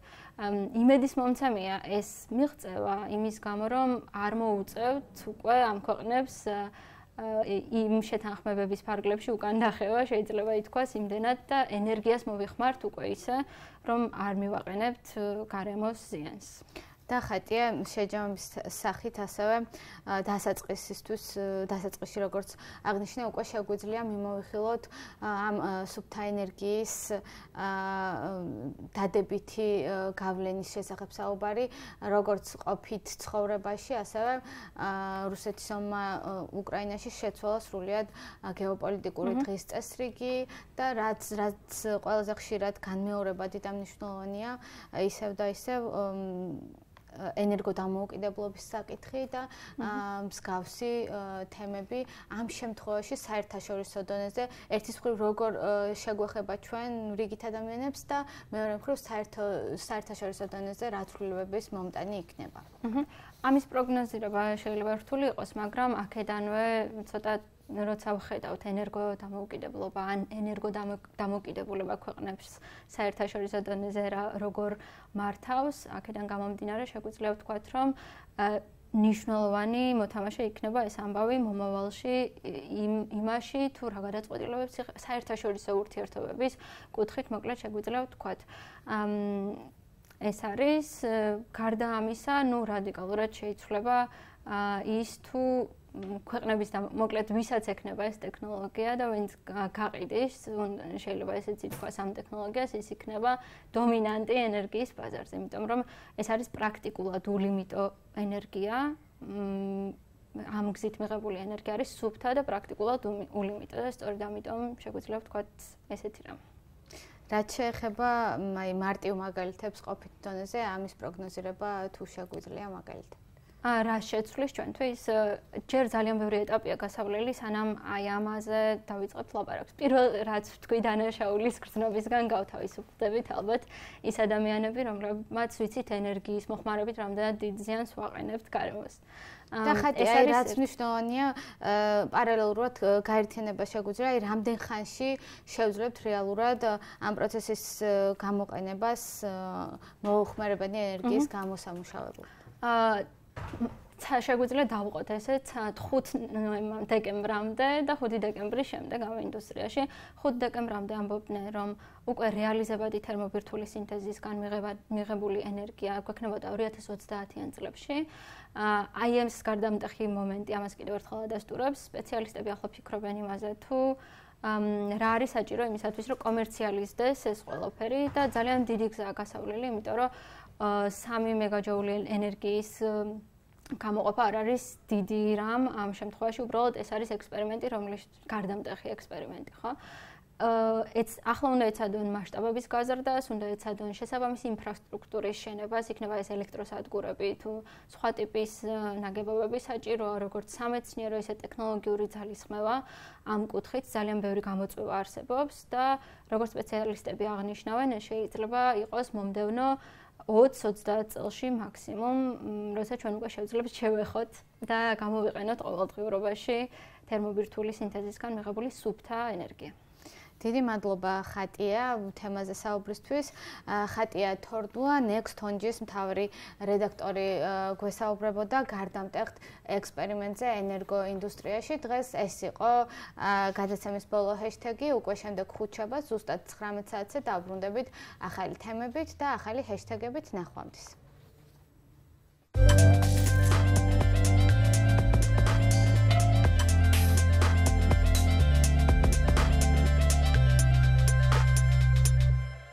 იმედის მომცემია ეს მიღწევა იმის გამო, რომ არ მოუწევთ უკვე ამ ქვეყნებს იმ შეთანხმებების ფარგლებში უკან დახევა, შეიძლება ითქვას იმდენად და ენერგიას მოვიხმართ უკვე ისე, რომ არ მივაყენებთ გარემოს ზიანს. და ხატია შეჯამების სახით ასევე დასაწყისში როგორც აღნიშნე უკვე შეგვიძლია მიმოვიხილოთ ამ სუფთა ენერგიის დადებითი გავლენის შესახებ საუბარი როგორც ყოფით ცხოვრებაში ასევე რუსეთის ომმა უკრაინაში შეცვალა სრულიად გეოპოლიტიკური დღის წესრიგი და რაც ყველაზე ხშირად განმეორებადი და მნიშვნელოვანია ისევ და ისევ ენერგოდამოუკიდებლობის საკითხი და მსგავსი თემები ამ შემთხვევაში საერთაშორისო დონეზე ერთის მხრივ როგორ შეგვეხება ჩვენ რიგით ადამიანებს და მეორე მხრივ საერთაშორისო დონეზე რა ცვლილებების მომტანი იქნება. ამის პროგნოზირება შეიძლება რთული იყოს, მაგრამ აქედანვე ცოტა როცა ვხედავთ ენერგოდამოუკიდებლობა ან ენერგოდამოუკიდებულება ქვეყნებს საერთაშორისო დონეზე როგორ მართავს, აქედან გამომდინარე შეგვიძლია ვთქვათ, რომ ნიშნულოვანი მოთამაშე იქნება ეს ამბავი მომავალში იმაში თუ რა გადაწყვეტილებებს საერთაშორისო ურთიერთობების კუთხით მოკლედ შეგვიძლია ვთქვათ. ეს არის გარდა ამისა, რადიკალურად შეიცვლება ის თუ ქვეყნების და მოკლედ ვისაც ექნება ეს ტექნოლოგია და ვინც გაყიდის, შეიძლება ესეც ითქვას ამ ტექნოლოგიას, ის იქნება დომინანტი ენერგიის ბაზარზე, იმიტომ რომ ეს არის პრაქტიკულად ულიმიტო ენერგია, ამ გზით მიღებული ენერგია არის სუფთა და პრაქტიკულად ულიმიტო და სწორედ ამიტომ შეგვიძლია ვთქვათ ესეთი რამ. რაც შეეხება მარტივ მაგალითებს ყოფით დონეზე, ამის პროგნოზირება თუ შეგვიძლია მაგალითად. რა შეცვლის ჩვენთვის ჯერ ძალიან ბევრი ეტაპია გასავლელი, სანამ აი ამაზე დავიწყებთ ლაპარაკს. პირველ რაც თქვი დანაშაულის გრძნობისგან გავთავისუფლდებით ალბათ ის ადამიანები, რომლებმაც ვიცით ენერგიის მოხმარებით რამდენად დიდ ზიანს ვაყენებთ გარემოს. და ხატია რაც მნიშვნელოვანია პარალელურად გაერთიანება შეგვიძლია აი რამდენ ხანში შევძლებთ რეალურად ამ პროცესის გამოყენებას მოუხმარებადი ენერგიის გამოსამუშავებლად. შეგვიძლია დავუყოთ ესეც 5 დეკემბრამდე და 5 დეკემბრის შემდეგ ამ ინდუსტრიაში 5 დეკემბრამდე ამბობდნენ რომ უკვე რეალიზებადი თერმობირთვული სინთეზისგან მიღებული ენერგია გვექნებოდა 2030-იან წლებში. აი ეს გარდამტეხი მომენტი ამას კიდევ ერთხელ ადასტურებს. სპეციალისტები ახლა ფიქრობენ იმაზე თუ რა არის საჭირო იმისათვის რომ კომერციალიზდეს ეს ყველაფერი და ძალიან დიდი გზაა გასავლელი, იმიტომ რომ 3 მეგაჯოული ენერგიის გამოყოფა არ არის დიდი რამ ამ შემთხვევაში, უბრალოდ ეს არის ექსპერიმენტი, რომლის გარდამტეხი ექსპერიმენტი, ხო? ახლა უნდა ეცადონ მასშტაბების გაზრდას, უნდა ეცადონ შესაბამისი ინფრასტრუქტურის შენებას, იქნება ეს ელექტროსადგურები თუ სხვა ტიპის ნაგებობები საჭიროა, როგორც სამეცნიერო, ისე ტექნოლოგიური ძალისხმევა ამ კუთხით ძალიან ბევრი გამოწვევა არსებობს და როგორც სპეციალისტები აღნიშნავენ, ეს შეიძლება იყოს მომდევნო 20-30 წელში მაქსიმუმ, როცა ჩვენ უკვე შევძლებთ შევეხოთ და გამოვიყენოთ ყოველდღიურობაში თერმობირთვული სინთეზისგან მიღებული სუფთა ენერგია. დიდი მადლობა ხატია თემაზე საუბრისთვის. ხატია თორდუა Next Onge-ის მთავარი რედაქტორი გვესაუბრებოდა გარდამტეხ ექსპერიმენტზე ენერგოინდუსტრიაში. დღეს ეს იყო გადაცემის ბოლო ჰეშტეგი, უკვე შემდეგ ხუთშაბათს ზუსტად 19 საათზე დავბრუნდებით ახალი თემებით და ახალი ჰეშტეგებით. ნახვამდის.